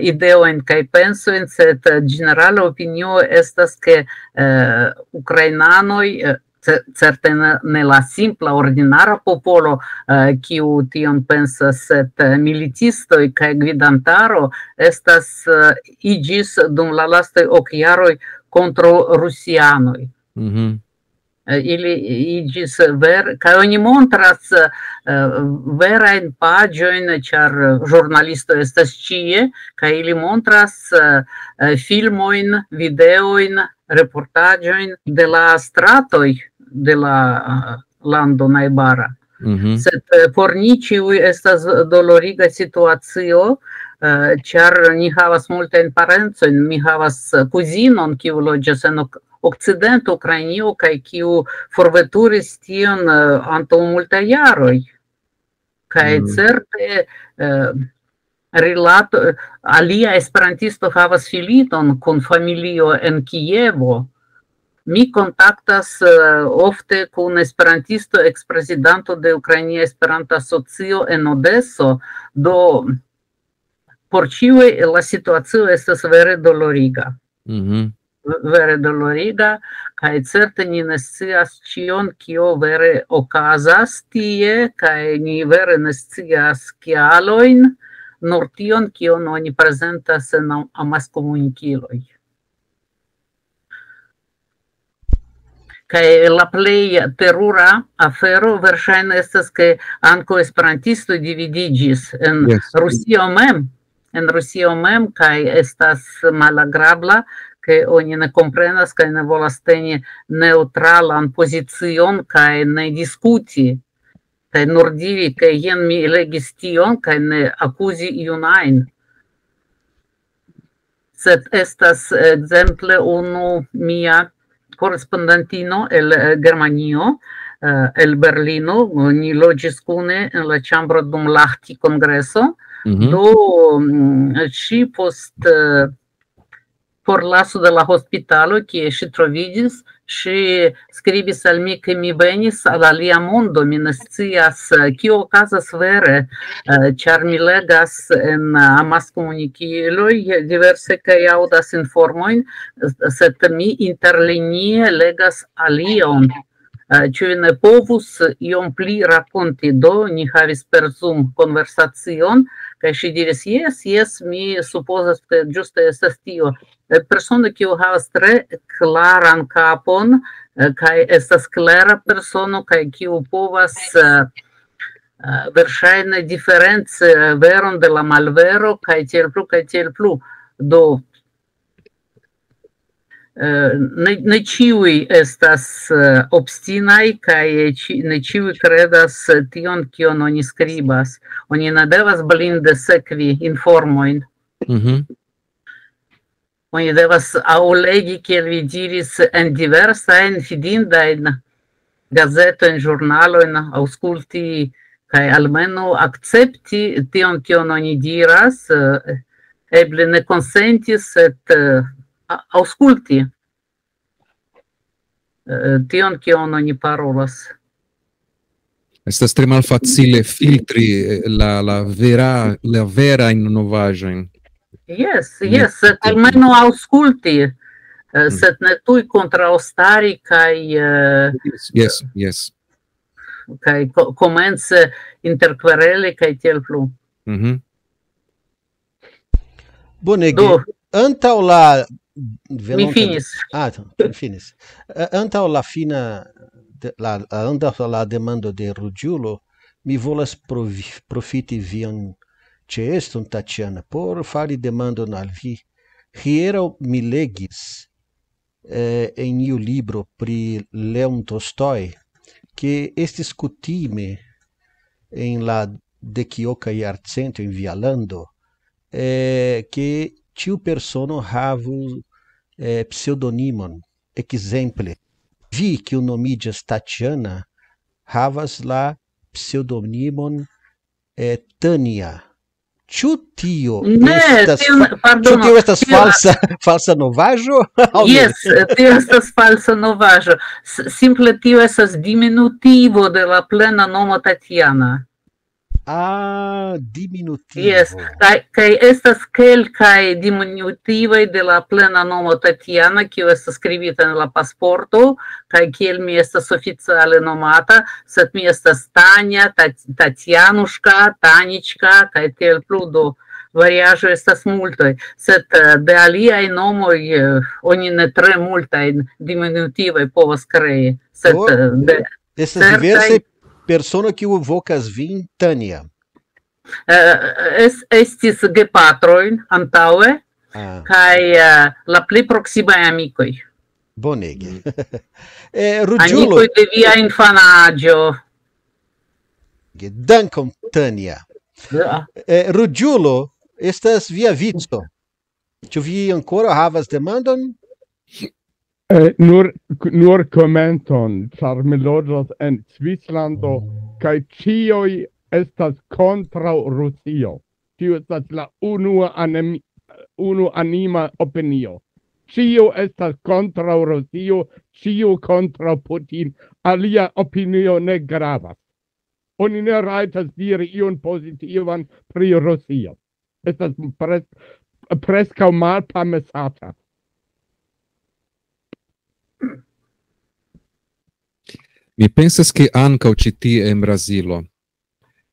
ideojn kaj pensojn, sed, eh, ĝenerala opinio estas, ke, eh, ukrainanoj, eh, ce-, certe ne, ne la simpla ordinara popolo, eh, kiu tion pensas, sed, eh, militistoj kaj gvidantaro estas, eh, iĝis dum la lastaj ok jaroj kontraŭ rusianoj. Mhm. Eh, ili iĝis ver-, kaj oni montras, eh, verajn paĝojn, ĉar ĵurnalistoj estas ĉie, kaj ili montras, eh, eh, filmojn, videojn, reportaĵojn de la stratoj de la, eh, lando najbara. Mhm. Sed, eh, por ni ĉiuj estas doloriga situacio, eh, ĉar ni havas multajn parencojn. Mi havas, eh, kuzinon, kiu loĝas en ok-, okcidenta Ukrainio, kaj kiu forveturis tion, eh, antaŭ multaj jaroj. Kaj Mm. certe, eh, rilato, alia esperantisto havas filinon kun familio en Kievo. Mi kontaktas, eh, ofte kun esperantisto, eksprezidanto de Ukrainia Esperanta Asocio en Odeso. Do, por ĉiuj la situacio estas vere doloriga. Mhm. V-, vere doloriga, kaj certe ni ne scias ĉion, kio vere okazas tie, kaj ni vere ne scias kialojn, nur tion, kion oni prezentas en am-, amaskomunikiloj. Kaj la plej terura afero verŝajne estas, ke ankaŭ esperantistoj dividiĝis en Yes. Rusio mem, en Rusio mem, kaj estas malagrabla, ke oni ne komprenas kaj ne volas teni neŭtralan pozicion kaj ne diskuti. Kaj nur diri, ke jen mi legis tion, kaj ne akuzi iun ajn. Sed estas, ekzemple, unu mia korespondantino el, eh, Germanio, eh, el Berlino. Ni loĝis kune en la ĉambro dum Lahti kongreso. Mhm. Do, mm, ŝi post, eh, forlaso de la hospitalo, kie ŝi troviĝis, ŝi skribis al mi, ke mi venis al alia mondo, mi ne scias, eh, kio okazas vere, eh, ĉar mi legas en, eh, amaskomunikiloj diverse kaj aŭdas informojn, sed mi interlinie legas alion. Eh, ĉu vi ne povus iom pli rakonti? Do, ni havis per Zoom konversacion, kaj ŝi diris, "Jes, jes, mi supozas, ke ĝuste estas tio." Eh, persono, kiu havas tre klaran kapon, eh, kaj estas klera persono, kaj kiu povas, eh, eh, verŝajne diferenci, eh, veron de la malvero, kaj tiel plu, kaj tiel plu. Do, eh, ne, ne ĉiuj estas, eh, obstinaj, kaj ĉi-, ne ĉiuj kredas, eh, tion, kion oni skribas. Oni ne devas blinde sekvi informojn. Mhm. Oni devas aŭ legi, kiel vi diris, en diversajn fidindajn gazetojn, ĵurnalojn, aŭskulti kaj almenaŭ akcepti tion, kion oni diras, eh, eble ne konsenti, sed, eh, a-, aŭskulti, eh, tion, kion oni parolas. Estas tre malfacile filtri, eh, la, la vera, la verajn novaĵojn. Jes, Ne jes, sed filtri. almenaŭ aŭskulti, eh, Mhm. sed ne tuj kontraŭstari kaj, eh, Jes, jes, jes. kaj ko-, komence interkvereli kaj tiel plu. Mhm. Bonege. Do, antaŭ la mi venonta finis. Ah, mi finis. Eh, antaŭ la fina de, la, antaŭ la demando de Ruĝulo, mi volas provi, profiti vian ĉeeston, Tatiana, por fari demandon al vi. Hieraŭ mi legis eh, en iu libro pri Leon Tolstoj, ke estis kutime en la dekioka jarcento en via lando, eh, ke ĉiu persono havu eh, pseŭdonimon. Ekzemple, vi, kiu nomiĝas Tatiana, havas la pseŭdonimon eh, Tania. Ĉu tio ne, estas, tio, fa- pardono, ĉu tio estas tio, falsa, falsa novaĵo? Aŭ ne? Jes, tio estas falsa novaĵo. S- Simple tio estas diminutivo de la plena nomo Tatiana. Ah, diminutivo. Jes, kaj, kaj estas kelkaj diminutivoj de la plena nomo Tatiana, kiu estas skribita en la pasporto, kaj kiel mi estas oficiale nomata, sed mi estas Tanja, Ta- Tatjanuška, Tanička, kaj tiel plu, do variaĵoj estas multoj. Sed eh, de aliaj nomoj eh, oni ne tre multajn diminutivoj povas krei. Sed Do, eh, de estas certaj diversaj personoj, kiu vokas vin Tanja. Eh, es, estis gepatroj antaŭe, Ah, kaj eh, la pli proksimaj amikoj. Bonege. Eh, Ruĝulo, amikoj de via infanaĝo. Dankon, Tanja. Ja. Eh, Ruĝulo, estas via vico. Ĉu vi ankoraŭ havas demandon? Eh, nur, nur komenton, ĉar mi loĝas en Svislando, kaj ĉiuj estas kontraŭ Rusio. Tio estas la unua anemi-, unu anima opinio. Ĉiu estas kontraŭ Rusio, ĉiu kontraŭ Putin. Alia opinio ne gravas. Oni ne rajtas diri ion pozitivan pri Rusio. Estas pres-, preskaŭ malpamesata. Mi pensas, ke ankaŭ ĉi tie en Brazilo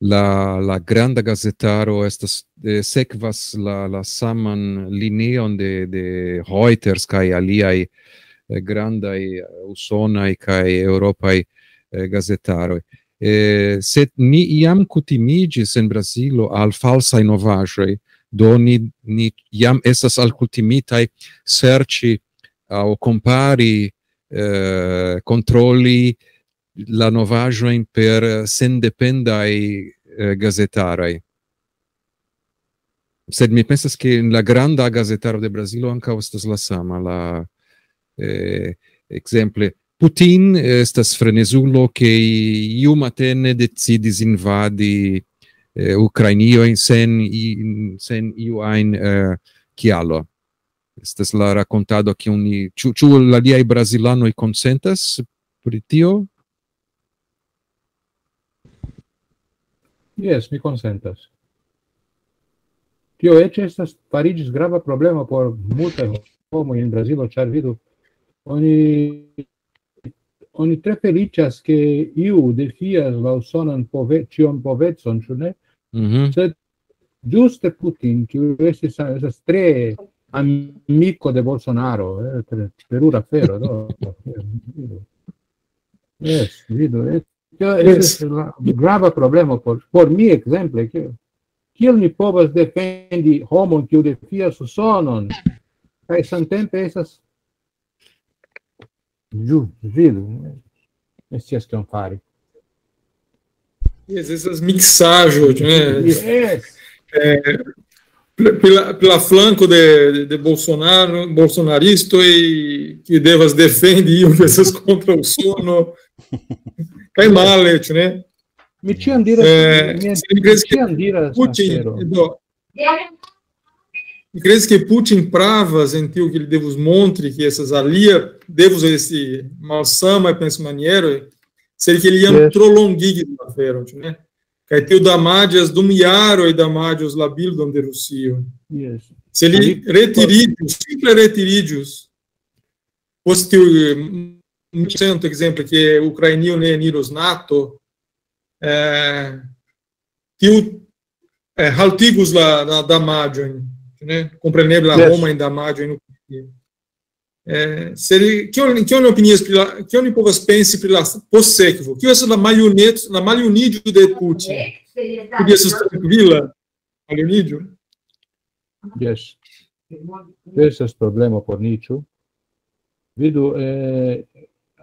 la, la granda gazetaro estas, eh, sekvas la, la saman linion de, de Reuters kaj aliaj eh, grandaj eh, usonaj kaj eŭropaj eh, gazetaroj. Eh, sed ni jam kutimiĝis en Brazilo al falsaj novaĵoj, do ni, ni jam estas alkutimitaj serĉi aŭ kompari, eh, kontroli la novaĵojn per sendependaj eh, gazetaroj. Sed mi pensas, ke en la granda gazetaro de Brazilo ankaŭ estas la sama. La, eh, ekzemple, Putin estas frenezulo, ke iu matene decidis invadi eh, Ukrainiojn sen, i- sen iu ajn eh, kialo. Estas la rakontado, kiun ni, ĉu, ĉu la aliaj brazilanoj konsentas pri tio? Jes, mi konsentas. Tio eĉ estas fariĝis grava problemo por multaj homoj en Brazilo, ĉar vidu, oni, oni tre feliĉas, ke iu defias la usonan pove, ĉion povecon, ĉu ne? Mhm. Sed ĝuste Putin, kiu estis, estas tre amiko de Bolsonaro, eh, tre terura afero, do. Jes, vidu, eh, tio estas la grava problemo por, por mi, ekzemple, ke kiel mi povas defendi homon, kiu defias Usonon, kaj samtempe estas ĝu-, vidu, ne scias kion fari. Jes, estas miksaĵo, ĉu ne? Jes. Eh, pl- pela, pela flanco de, de, de Bolsonaro, bolsonaristoj, que devas defendi iu que estas kontraŭ Usono. Kaj male, ĉu ne? Mi ĉiam diras, eh, mi, mi, mi ĉiam diras, Putin, afero. Do, mi credes ke Putin pravas en tio, ke li devus montri, ke estas alia, devus esti malsamaj pensmaniero, sed ke li jam, yes, tro longigis la aferon, ĉu ne? Kaj tio damaĝas, dum jaroj damaĝos la bildon de Rusio. Yes. Se li retiriĝus, simple retiriĝus, post tiu, mm, cento, ekzemple, ke Ukrainio ne eniros nato, eh, tiu, eh, haltigus la, la damaĝojn. Ne? Kompreneble la Yes. homajn damaĝojn. Eh, se li, kion, kion opinias pri la, kion ni povas pensi pri la postsekvo? Kio estas la maljunec-, la maljuniĝo de Putin? Ĉu ĝi estas trankvila maljuniĝo? Yes. Estas problemo por ni, ĉu? Vidu, eh,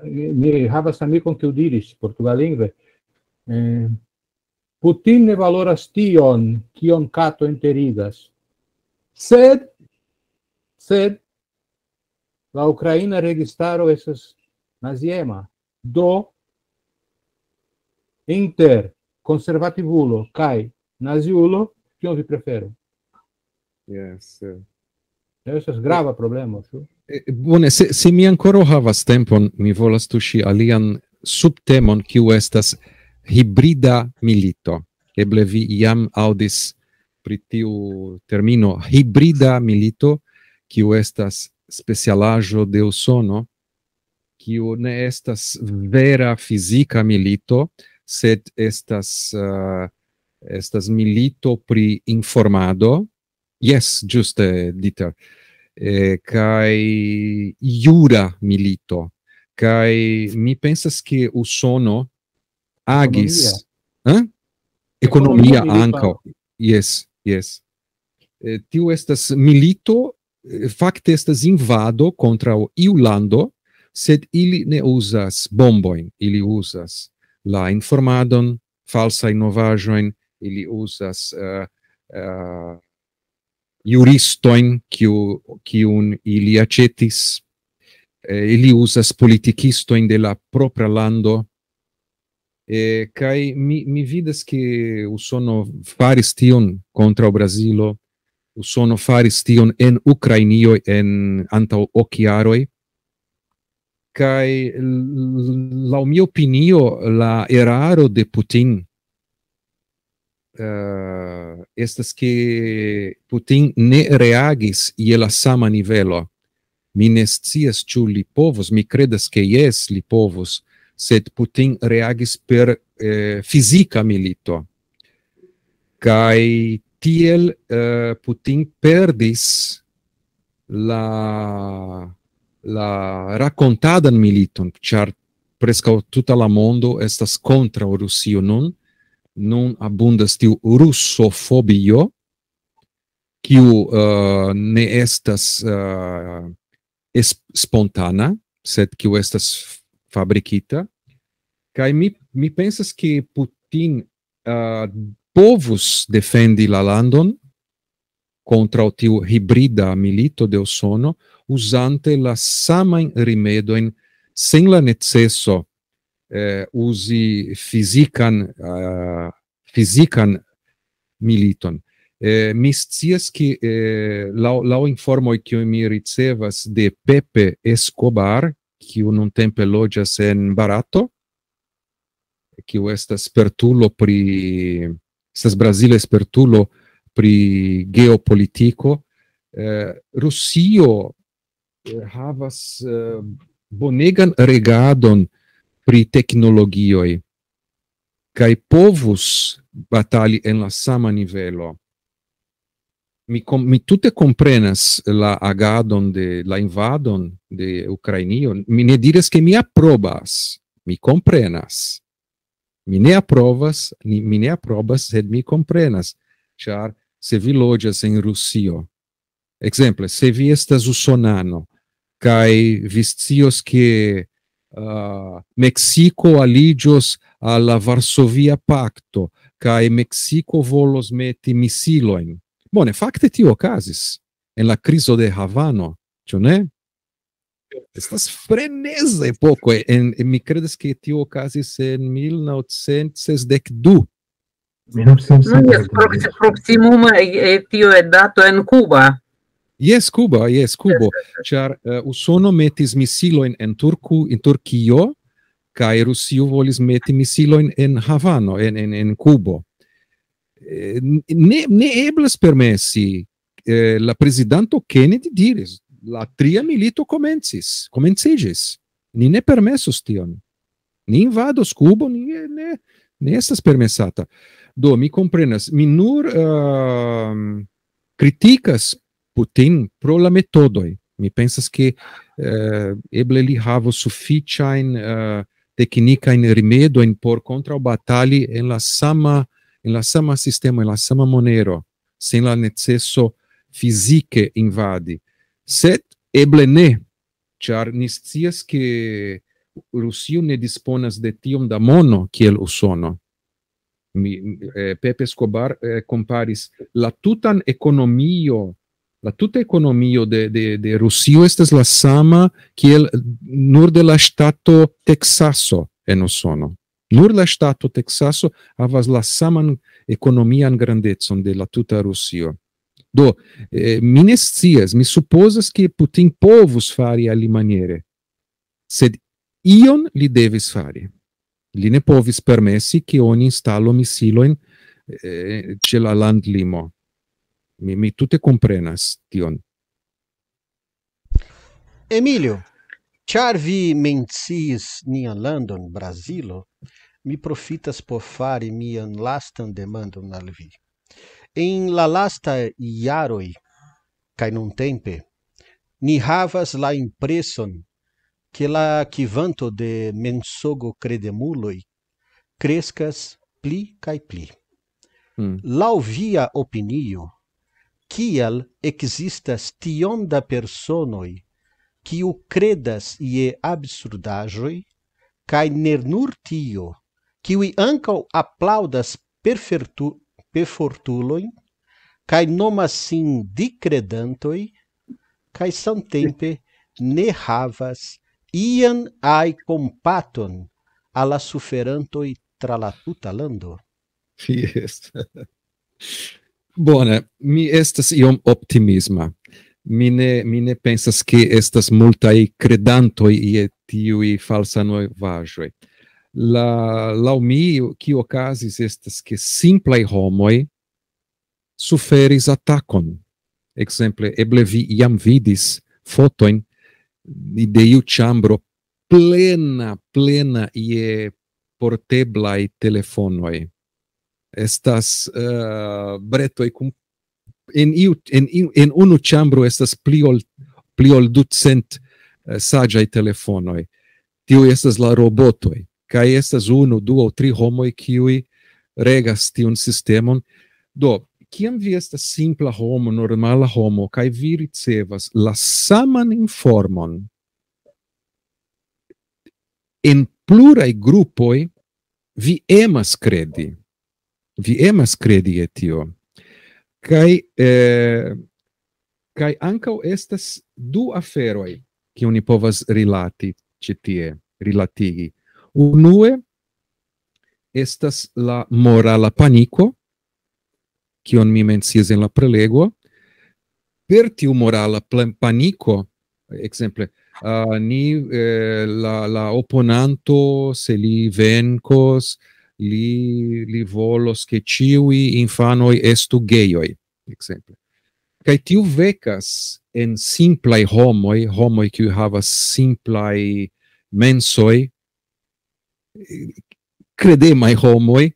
mi havas amikon, kiu diris portugallingve, eh, Putin ne valoras tion, kion kato enterigas. Sed, sed, la ukraina registaro estas naziema. Do, inter konservativulo kaj naziulo, kion vi preferu? Yes, eh. Estas grava problemo, ĉu? Eh, bone, se, se mi ankoraŭ havas tempon, mi volas tuŝi alian subtemon, kiu estas hibrida milito. Eble vi jam aŭdis pri tiu termino, hibrida milito, kiu estas specialaĵo de Usono, kiu ne estas vera fizika milito, sed estas, eh, estas milito pri informado. Yes, ĝuste, Dieter. Eh, kaj jura milito. Kaj mi pensas, ke Usono agis... Eh? Ekonomia Ekonomia milito. Ankaŭ. Yes, yes. Eh, tiu estas milito, eh, fakte estas invado kontraŭ iu lando, sed ili ne uzas bombojn, ili uzas la informadon, falsajn novaĵojn, ili uzas, eh, eh, juristojn, kiu, kiun ili aĉetis, eh, ili uzas politikistojn de la propra lando, eh, kaj mi, mi vidas, ke Usono faris tion kontraŭ Brazilo, Usono faris tion en Ukrainio en antaŭ ok jaroj, kaj l-, laŭ mia opinio la eraro de Putin, eh, estas, ke Putin ne reagis je la sama nivelo. Mi ne scias, ĉu li povus, mi kredas, ke jes, li povus, sed Putin reagis per, eh, fizika milito. Kaj tiel, eh, Putin perdis la, la rakontadan militon, ĉar preskaŭ tuta la mondo estas kontraŭ Rusio nun. Nun abundas tiu rusofobio, kiu, eh, ne estas, eh, es-, spontana, sed kiu estas fabrikita. Kaj mi, mi pensas, ke Putin, eh, povus defendi la landon kontraŭ tiu hibrida milito de Usono, uzante la samajn rimedojn sen la neceso, eh, uzi fizikan, eh, fizikan militon. Eh, mi scias, ke, eh, laŭ, laŭ informoj, kiuj mi ricevas de Pepe Escobar, kiu nuntempe loĝas en Barato, kiu estas spertulo pri, estas brazila spertulo pri geopolitiko. Eh, Rusio, eh, havas, eh, bonegan regadon pri teknologioj kaj povus batali en la sama nivelo. Mi kom-, mi tute komprenas la agadon de, la invadon de Ukrainio. Mi ne diras, ke mi aprobas. Mi komprenas. Mi ne aprovas, ni, mi ne aprobas, sed mi komprenas. Ĉar se vi loĝas en Rusio, ekzemple, se vi estas usonano, kaj vi scios, ke, ah, Meksiko aliĝos al la Varsovia Pakto, kaj Meksiko volos meti misilojn. Bone, fakte tio okazis en la krizo de Havano, ĉu ne? Estas freneza epoko. En, mi kredas, ke tio okazis en mil novcent sesdek du. Mil novcent No, jes, proxi-, proximume, eh, tio è dato en Cuba. Jes, Kuba, jes, Kubo. Ĉar, eh, Usono metis misilojn en Turku-, en Turkio, kaj Rusio volis meti misilojn en Havano, en, en, en Kubo. Eh, n-, ne, ne eblas permesi, eh, la prezidanto Kennedy diris, la tria milito komencis, komenciĝis. Ni ne permesos tion. Ni invados Kubo, ni ne, ne, ne estas permesata. Do, mi komprenas, mi nur, ehm, kritikas Putin pro la metodoj. Mi pensas, ke eh, eble li havos sufiĉajn eh, teknikajn rimedojn por kontraŭbatali en la sama, en la sama sistemo, en la sama monero, sen la neceso fizike invadi. Sed eble ne, ĉar ni scias, ke Rusio ne disponas de tiom da mono kiel Usono. Mi, eh, Pepe Escobar eh, komparis la tutan ekonomio, la tuta ekonomio de, de, de Rusio estas la sama kiel nur de la ŝtato Teksaso en Usono. Nur la ŝtato Teksaso havas la saman ekonomian grandecon de la tuta Rusio. Do, eh, mi ne scias, mi supozas, ke Putin povus fari alimaniere, sed ion li devis fari. Li ne povis permesi, ke oni instalo misilojn eh, ĉe la landlimo. Mi, mi tute komprenas tion. Emilio, ĉar vi menciis nian landon, Brazilo, mi profitas por fari mian lastan demandon al vi. En la lasta jaroj kaj nuntempe, ni havas la impreson, ke la kvanto de mensogo kredemuloj kreskas pli kaj pli. Hmm. Laŭ via opinio, kial ekzistas tiom da personoj, kiu kredas je absurdaĵoj, kaj ne nur tio, kiuj ankaŭ aplaŭdas perfortulojn, kaj nomas sin dikredantoj, kaj samtempe ne havas ian aj kompaton al la suferantoj tra la tuta lando? Yes. Bone, mi estas iom optimisma. Mi ne, mi ne pensas, ke estas multaj kredantoj je tiuj falsa novaĵoj. La, laŭ mi, kio okazis, estas, ke simplaj homoj suferis atakon. Ekzemple, eble vi jam vidis fotojn de iu ĉambro plena, plena je porteblaj telefonoj. Estas uh, bretoj kun en, iu, en, en unu ĉambro estas pli ol, pli ol ducent uh, saĝaj telefonoj. Tiuj estas la robotoj. Kaj estas unu, du aŭ tri homoj, kiuj regas tiun sistemon. Do, kiam vi estas simpla homo, normala homo, kaj vi ricevas la saman informon en pluraj grupoj, vi emas kredi. Vi emas kredi je tio. Kaj, eh, kaj ankaŭ estas du aferoj, kiuj ni povas rilati ĉi tie, rilatigi. Unue estas la morala paniko, kion mi menciis en la prelego. Per tiu morala paniko, ekzemple, uh, ni, eh, la, la oponanto, se li venkos, li, li volos, ke ĉiuj infanoj estu gejoj, ekzemple. Kaj tiu vekas en simplaj homoj, homoj, kiuj havas simplaj mensoj, kredemaj homoj,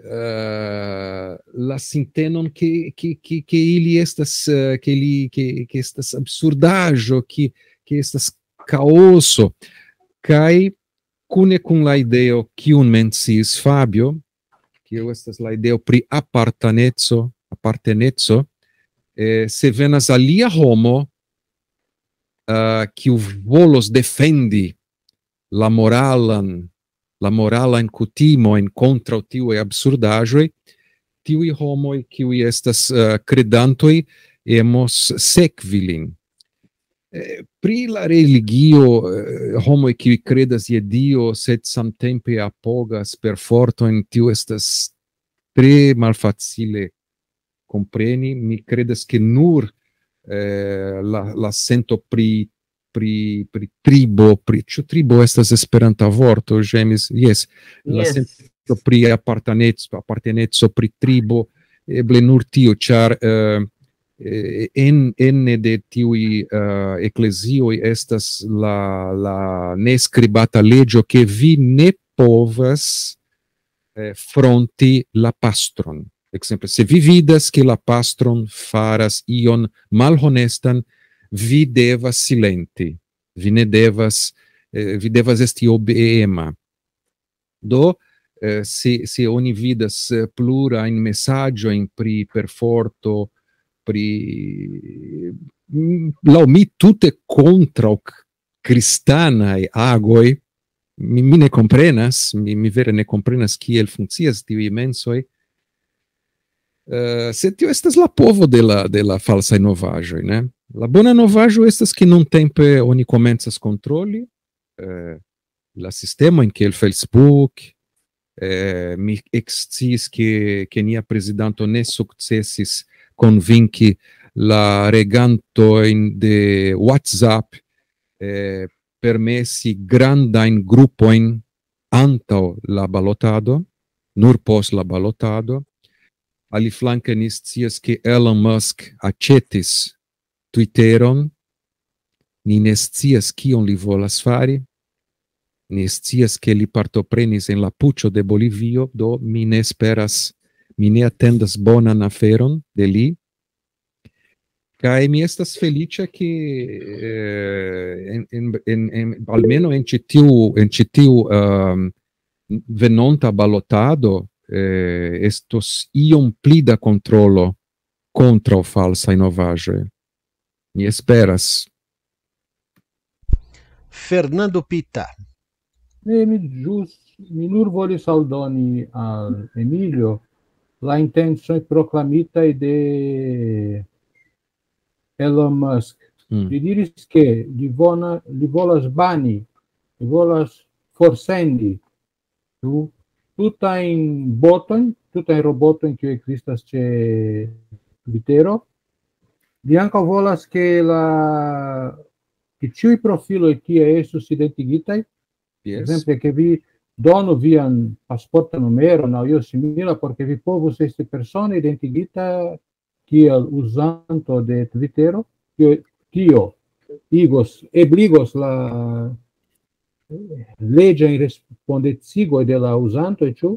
uh, la sintenon, ke, ke, ke, ke ili estas, uh, ke, li, ke, ke estas absurdaĵo, ke, ke estas kaoso. Kaj kune kun la ideo, kiun menciis Fabio, kiu estas la ideo pri apartaneco, aparteneco, eh, se venas alia homo, uh, kiu volos defendi la moralan, la moralajn kutimojn kontraŭ tiuj absurdaĵoj, tiuj homoj, kiuj estas uh, kredantoj, emos sekvi lin. Eh, pri la religio, eh, homoj, kiuj kredas je Dio, sed samtempe apogas per fortojn, tio estas tre malfacile kompreni. Mi kredas, ke nur eh, la, la sento pri, pri, pri tribo, pri, ĉu tribo estas Esperanta vorto, ĝemis, jes, la yes. Sento pri aparteneco, aparteneco pri tribo, eble nur tio, ĉar eh, eh, en, ene de tiuj eh, eklezioj estas la, la neskribata leĝo, ke vi ne povas eh, fronti la pastron. Ekzemple, se vi vidas, ke la pastron faras ion malhonestan, vi devas silenti. Vi ne devas, eh, vi devas esti obeema. Do, eh, se, se oni vidas, eh, plurajn mesaĝojn pri perforto, pri, mm, laŭ mi tute kontraŭ k-, kristanaj agoj, mi, mi ne komprenas, mi, mi vere ne komprenas kiel funkcias tiuj mensoj. Eh, sed tio estas la povo de la, de la falsaj novaĵoj, ne? La bona novaĵo estas, ke nuntempe oni komencas kontroli, eh, la sistemojn kiel Facebook, eh, mi eksciis, ke, ke nia prezidanto ne sukcesis konvinki la regantojn de WhatsApp, eh, permesi grandajn grupojn antaŭ la balotado, nur post la balotado. Aliflanke ni scias, ke Elon Musk aĉetis Twitteron. Ni ne scias, kion li volas fari. Ni scias, ke li partoprenis en la puĉo de Bolivio, do mi ne esperas, mi ne atendas bonan aferon de li. Kaj mi estas feliĉa, ke, eh, en, en, en, en, almeno en ĉi tiu, en ĉi tiu, ehm, venonta balotado, eh, estos iom pli da kontrolo kontraŭ falsaj novaĵoj. Mi esperas. Fernando Pita. Ne, mi ĵus, mi nur volis aldoni al Emilio la intencoj proklamitaj de Elon Musk. Mm. Li diris, ke li, vona, li volas bani, li volas forsendi tu, tutajn botojn, tutajn robotojn, kiuj ekzistas ĉe Twittero. Li ankaŭ volas, ke la, ke ĉiuj profiloj tie estus identigitaj. Yes. Ekzemple, ke vi donu vian pasporta numeron aŭ io simila, por ke vi povus esti persone identigita kiel uzanto de Twittero, kio, kio igos, ebligos la, eh, leĝajn respondecigoj de la uzantoj, ĉu?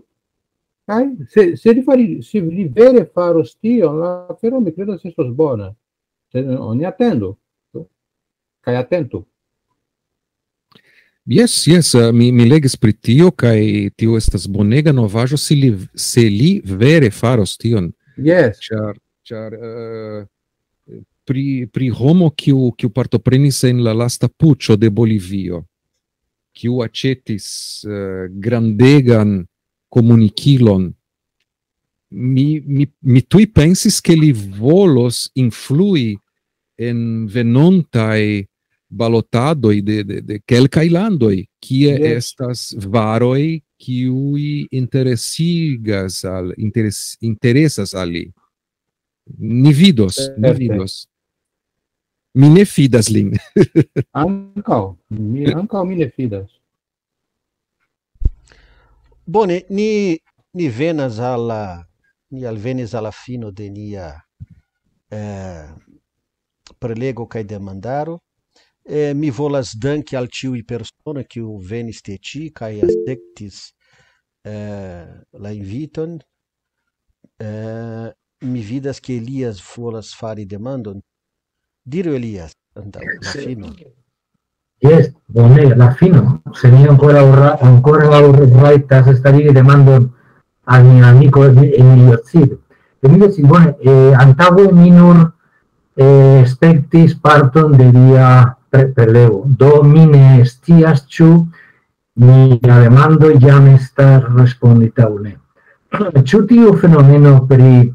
Kaj se, se li fari, se li vere faros tion, la afero, mi kredas, estos bona. Sed oni atendu. Ĉu? Kaj atentu. Yes, yes, eh, mi, mi legis pri tio, kaj tio estas bonega novaĵo, se li, se li vere faros tion. Yes. Ĉar, ĉar, eh, pri, pri homo, kiu, kiu partoprenis en la lasta puĉo de Bolivio, kiu aĉetis, eh, grandegan komunikilon, mi, mi, mi tuj pensis, ke li volos influi en venontaj balotadoj de, de, de kelkaj landoj, kie Yes. estas varoj, kiuj interesigas al, interes-, interesas al li. Ni vidos, ni Perfekt. Vidos. Mi ne fidas lin. Ankaŭ, mi, ankaŭ mi ne fidas. Bone, ni, ni venas al la, ni alvenis al la fino de nia, eh, prelego kaj demandaro. Eh, mi volas danki al ĉiuj personoj, kiu venis tie ĉi kaj akceptis, eh, la inviton. Eh, mi vidas, ke Elias volas fari demandon. Diru, Elias, antaŭ la Se- fino. Jes, bone, la fino. Se mi ankoraŭ ra-, ankoraŭ rajtas starigi demandon al mia amiko Emilio Cid. Emilio Cid, bone, eh, antaŭe mi nur, eh, spektis parton de via pre-, prelego. Do mi ne scias, ĉu mia demando jam estas respondita aŭ ne. Ĉu tiu fenomeno pri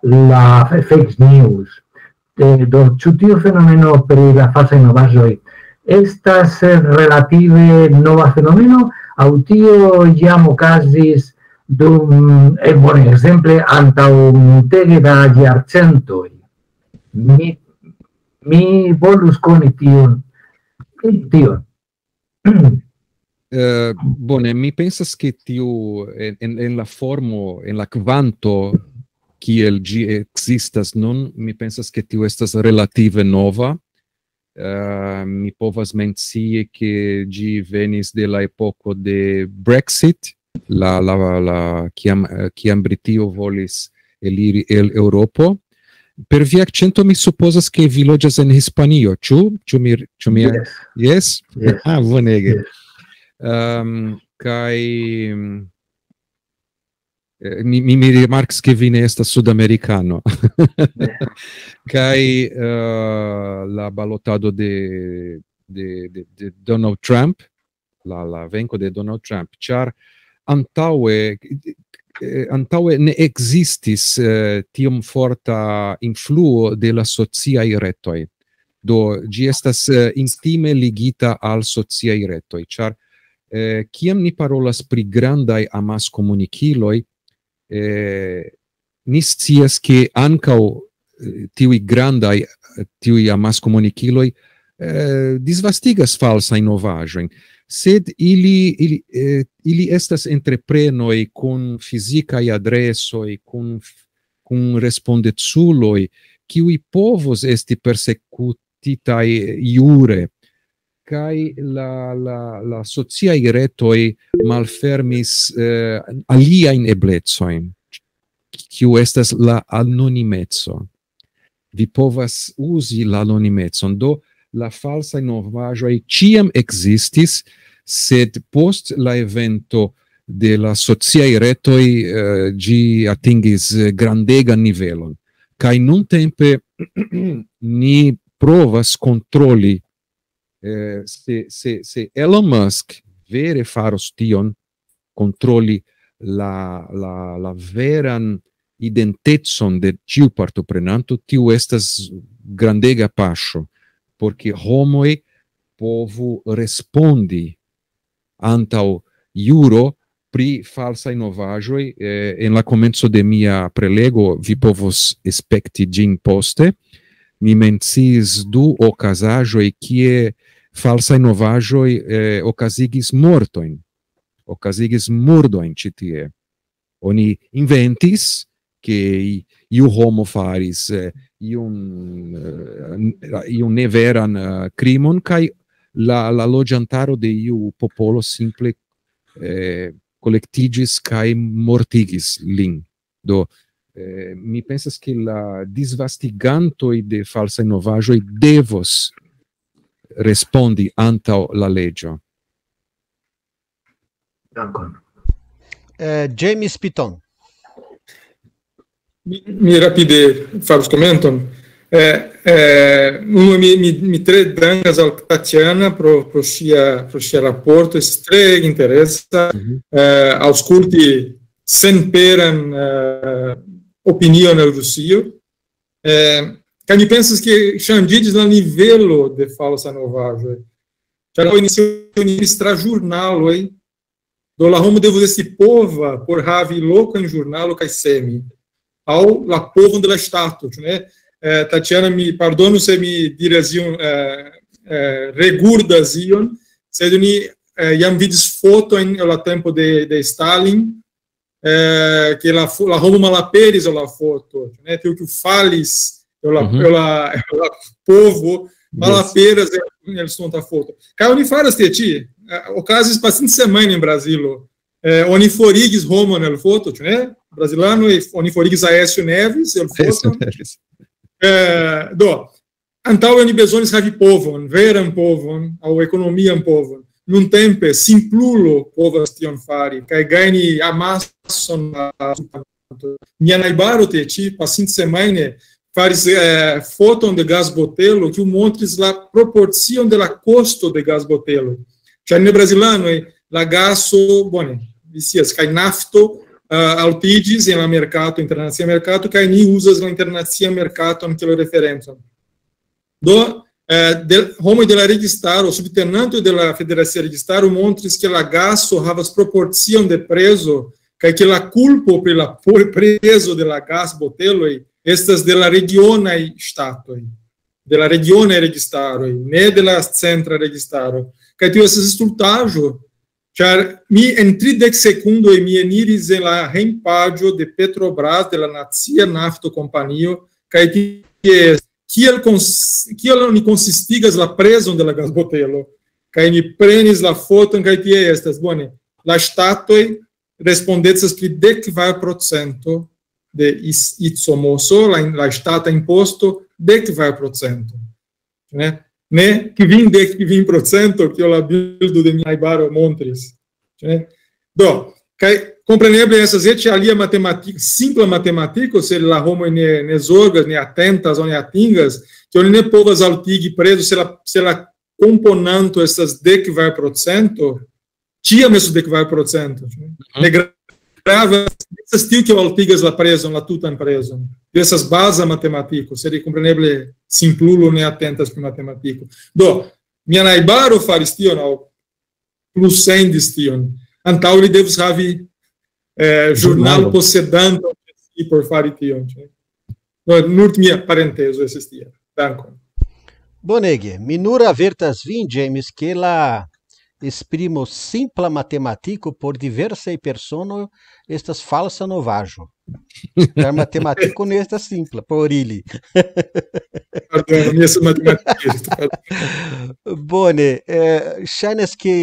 la fe-, fake news, eh, do, ĉu tiu fenomeno pri la falsaj novaĵoj estas, eh, relative nova fenomeno, aŭ tio jam okazis dum, eh, bone, ekzemple, antaŭ multege da jarcentoj? Mi, mi volus koni tion, tion. Eh, bone, mi pensas, ke tiu en, en, en la formo, en la kvanto, kiel ĝi ekzistas nun, mi pensas, ke tiu estas relative nova. Eh, mi povas mencii, ke ĝi venis de la epoko de Brexit, la, la, la, kiam, eh, kiam Britio volis eliri el Eŭropo. Per via akĉento mi supozas, ke vi loĝas en Hispanio, ĉu? Ĉu mi, ĉu mi... Yes. Yes? Yes. Ah, bonege. Yes. Um, kaj eh, mi, mi, mi rimarkis, ke vi ne estas sudamerikano. Kaj eh, la balotado de, de, de, de Donald Trump, la, la venko de Donald Trump, ĉar antaŭe, eh, antaŭe ne ekzistis eh, tiom forta influo de la sociaj retoj. Do, ĝi estas eh, intime ligita al sociaj retoj, ĉar eh, kiam ni parolas pri grandaj amaskomunikiloj, eh, ni scias, ke ankaŭ eh, tiuj grandaj, eh, tiuj amaskomunikiloj eh, disvastigas falsajn novaĵojn, sed ili, ili, eh, ili estas entreprenoj kun fizikaj adresoj, kun, kun respondeculoj, kiuj povos esti persekutitaj jure. Kaj la, la, la sociaj retoj malfermis eh, aliajn eblecojn, kiu estas la anonimeco. Vi povas uzi la anonimecon. Do, la falsaj novaĵoj ĉiam ekzistis, sed post la evento de la sociaj retoj eh, ĝi atingis eh, grandegan nivelon. Kaj nuntempe ni provas kontroli eh, se, se, se Elon Musk vere faros tion, kontroli la, la, la veran identecon de ĉiu partoprenanto, tiu estas grandega paŝo, por ke homoj povu respondi antaŭ juro pri falsaj novaĵoj. Eh, en la komenco de mia prelego vi povos spekti ĝin poste. Mi menciis du okazaĵoj, kie falsaj novaĵoj eh, okazigis mortojn, okazigis murdojn ĉi tie. Oni inventis, ke iu homo faris eh, iun, eh, iun neveran eh, krimon, kaj la, la loĝantaro de iu popolo simple eh, kolektiĝis kaj mortigis lin. Do, eh, mi pensas, ke la disvastigantoj de falsaj novaĵoj devos respondi antaŭ la leĝo. Dankon. Eh, James Piton. Mi, mi rapide faros komenton. Eh, eh, unu, mi, mi, mi tre dankas al Tatiana pro, pro sia, pro sia raporto, estas tre interesa eh, aŭskulti senperan eh, opinion el Rusio. Eh, kaj mi pensas, ke ŝanĝiĝis la nivelo de falsa novaĵoj. Ĉar oni, se oni tra ĵurnaloj, do la homo devus esti pova por havi lokon en ĵurnalo kaj semi. Aŭ la povon de la ŝtato, ĉu ne? Eh, Tatiana, mi pardonu se mi diras ion, eh, eh, regurdas ion, sed ni eh, jam vidis fotojn el la tempo de, de Stalin, eh, ke la, fo- la homo malaperis el la foto, ĉu ne? Tiu kiu falis el la, Mhm. el la, el la povo malaperas el, el estonta foto. Kaj oni faras tie ĉi, eh, okazis pasinta semajno en Brazilo. Eh, oni forigis homon el foto, ĉu ne? Brazilanoj, oni forigis Aécio Neves el foto. Eh, do, antaŭe oni bezonis havi povon, veran povon, aŭ ekonomian povon. Nuntempe simplulo povas tion fari, kaj gajni amason da... Mia najbaro tie ĉi, pasinta semajne, faris eh, foton de gasbotelo, kiu montris la proporcion de la kosto de gasbotelo. Ĉar en Brazilanoj la gaso, bone, vi scias, kaj nafto eh, altiĝis en la merkato, internacia merkato, kaj ni uzas la internacia merkaton kiel referencon. Do, eh, de, homoj de la registaro, subtenanto de la federacia registaro montris, ke la gaso havas proporcion de prezo, kaj ke la kulpo pri la po- prezo de la gasboteloj estas de la regionaj ŝtatoj, de la regionaj registaroj, ne de la centra registaro. Kaj tio estas stultaĵo, ĉar mi en tridek sekundoj mi eniris en la hejmpaĝo de Petrobras, de la nacia naftokompanio, kaj tie kiel, kons, kiel oni konsistigas la prezon de la gasbotelo. Kaj mi prenis la foton, kaj tie estas, bone, la ŝtatoj respondecas pri dek kvar procento de is-, ICOMOS, la, la ŝtata imposto, dek kvar procento. Ne? Ne kvindek kvin procento, kiel la bildo de mia najbaro montris. Ne? Do, kaj kompreneble estas eĉ alia matematiko, simpla matematiko, se la homoj ne, ne zorgas, ne atentas, ne atingas, ke oni ne povas altigi prezo, se la, se la komponanto estas dek kvar procento, ĉiam estos dek kvar procento. Ne gra-, gravas, estas tiu, kiu altigas la prezon, la tutan prezon. Tio estas baza matematiko, sed kompreneble simplulo ne atentas pri matematiko. Do, mia najbaro faris tion, aŭ plus sendis tion. Antaŭ li devus havi, eh, ĵurnalposedanton por fari tion, ĉe. No, nur mia parentezo estis tia. Dankon. Bonege, mi nur avertas vin, James, ke la esprimo simpla matematiko por diversaj personoj estas falsa novaĵo. Ĉar matematiko ne estas simpla por ili. Pardon, mi estas matematikisto, pardon. Bone, eh, ŝajnas ke,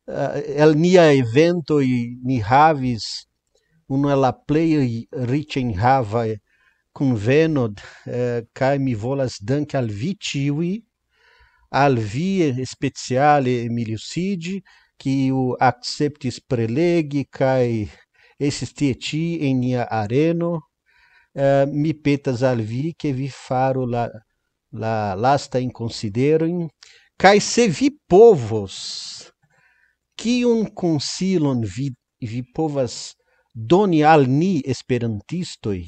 eh, el nia evento i-, ni havis unu el la plej riĉa enhava kunveno, eh, kaj mi volas danki al vi ĉiuj, al vi speciale Emilio Sigi, kiu akceptis prelegi kaj estis tie ĉi en nia areno. Eh, mi petas al vi, ke vi faru la, la lastajn konsiderojn, kaj se vi povos, kiun konsilon vi, vi povas doni al ni esperantistoj,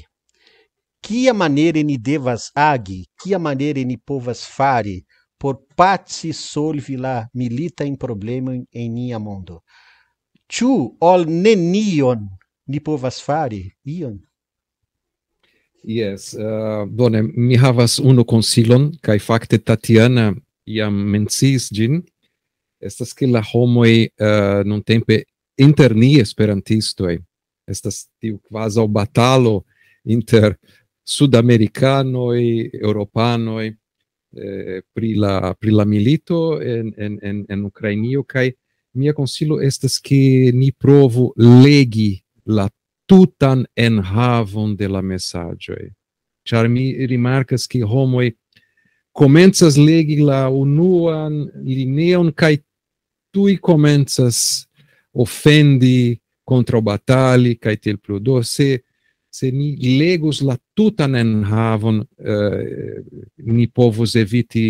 kia maniere ni devas agi, kia maniere ni povas fari por paci solvi la militajn problemojn en nia mondo? Ĉu ol nenion ni povas fari ion? Yes, eh, bone, mi havas unu konsilon, kaj fakte Tatiana jam menciis ĝin. Estas ke la homoj, eh, nuntempe inter ni esperantistoj estas tiu kvazaŭ batalo inter sudamerikanoj, eŭropanoj, eh, pri la, pri la milito en, en, en, en Ukrainio, kaj mia konsilo estas ke ni provu legi la tutan enhavon de la mesaĝoj. Ĉar mi rimarkas, ke homoj komencas legi la unuan lineon kaj tuj komencas ofendi, kontraŭbatali kaj tiel plu. Do, se, se ni legus la tutan enhavon, eh, ni povus eviti,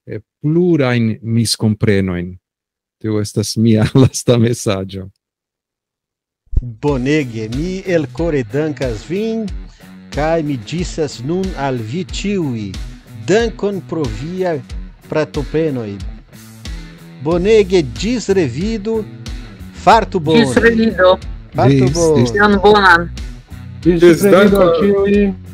eh, plurajn miskomprenojn. Tio estas mia lasta mesaĝo. Bonege, mi elkore dankas vin, kaj mi ĝisas nun al vi ĉiuj. Dankon pro via pratopenoj. Bonege, ĝis revido. Fartu bone. Ĝis revido. Fartu bone. Ĝis, ĝis. Ion bonan. Ĝis, ĝis revido, dankon. Ĉiuj.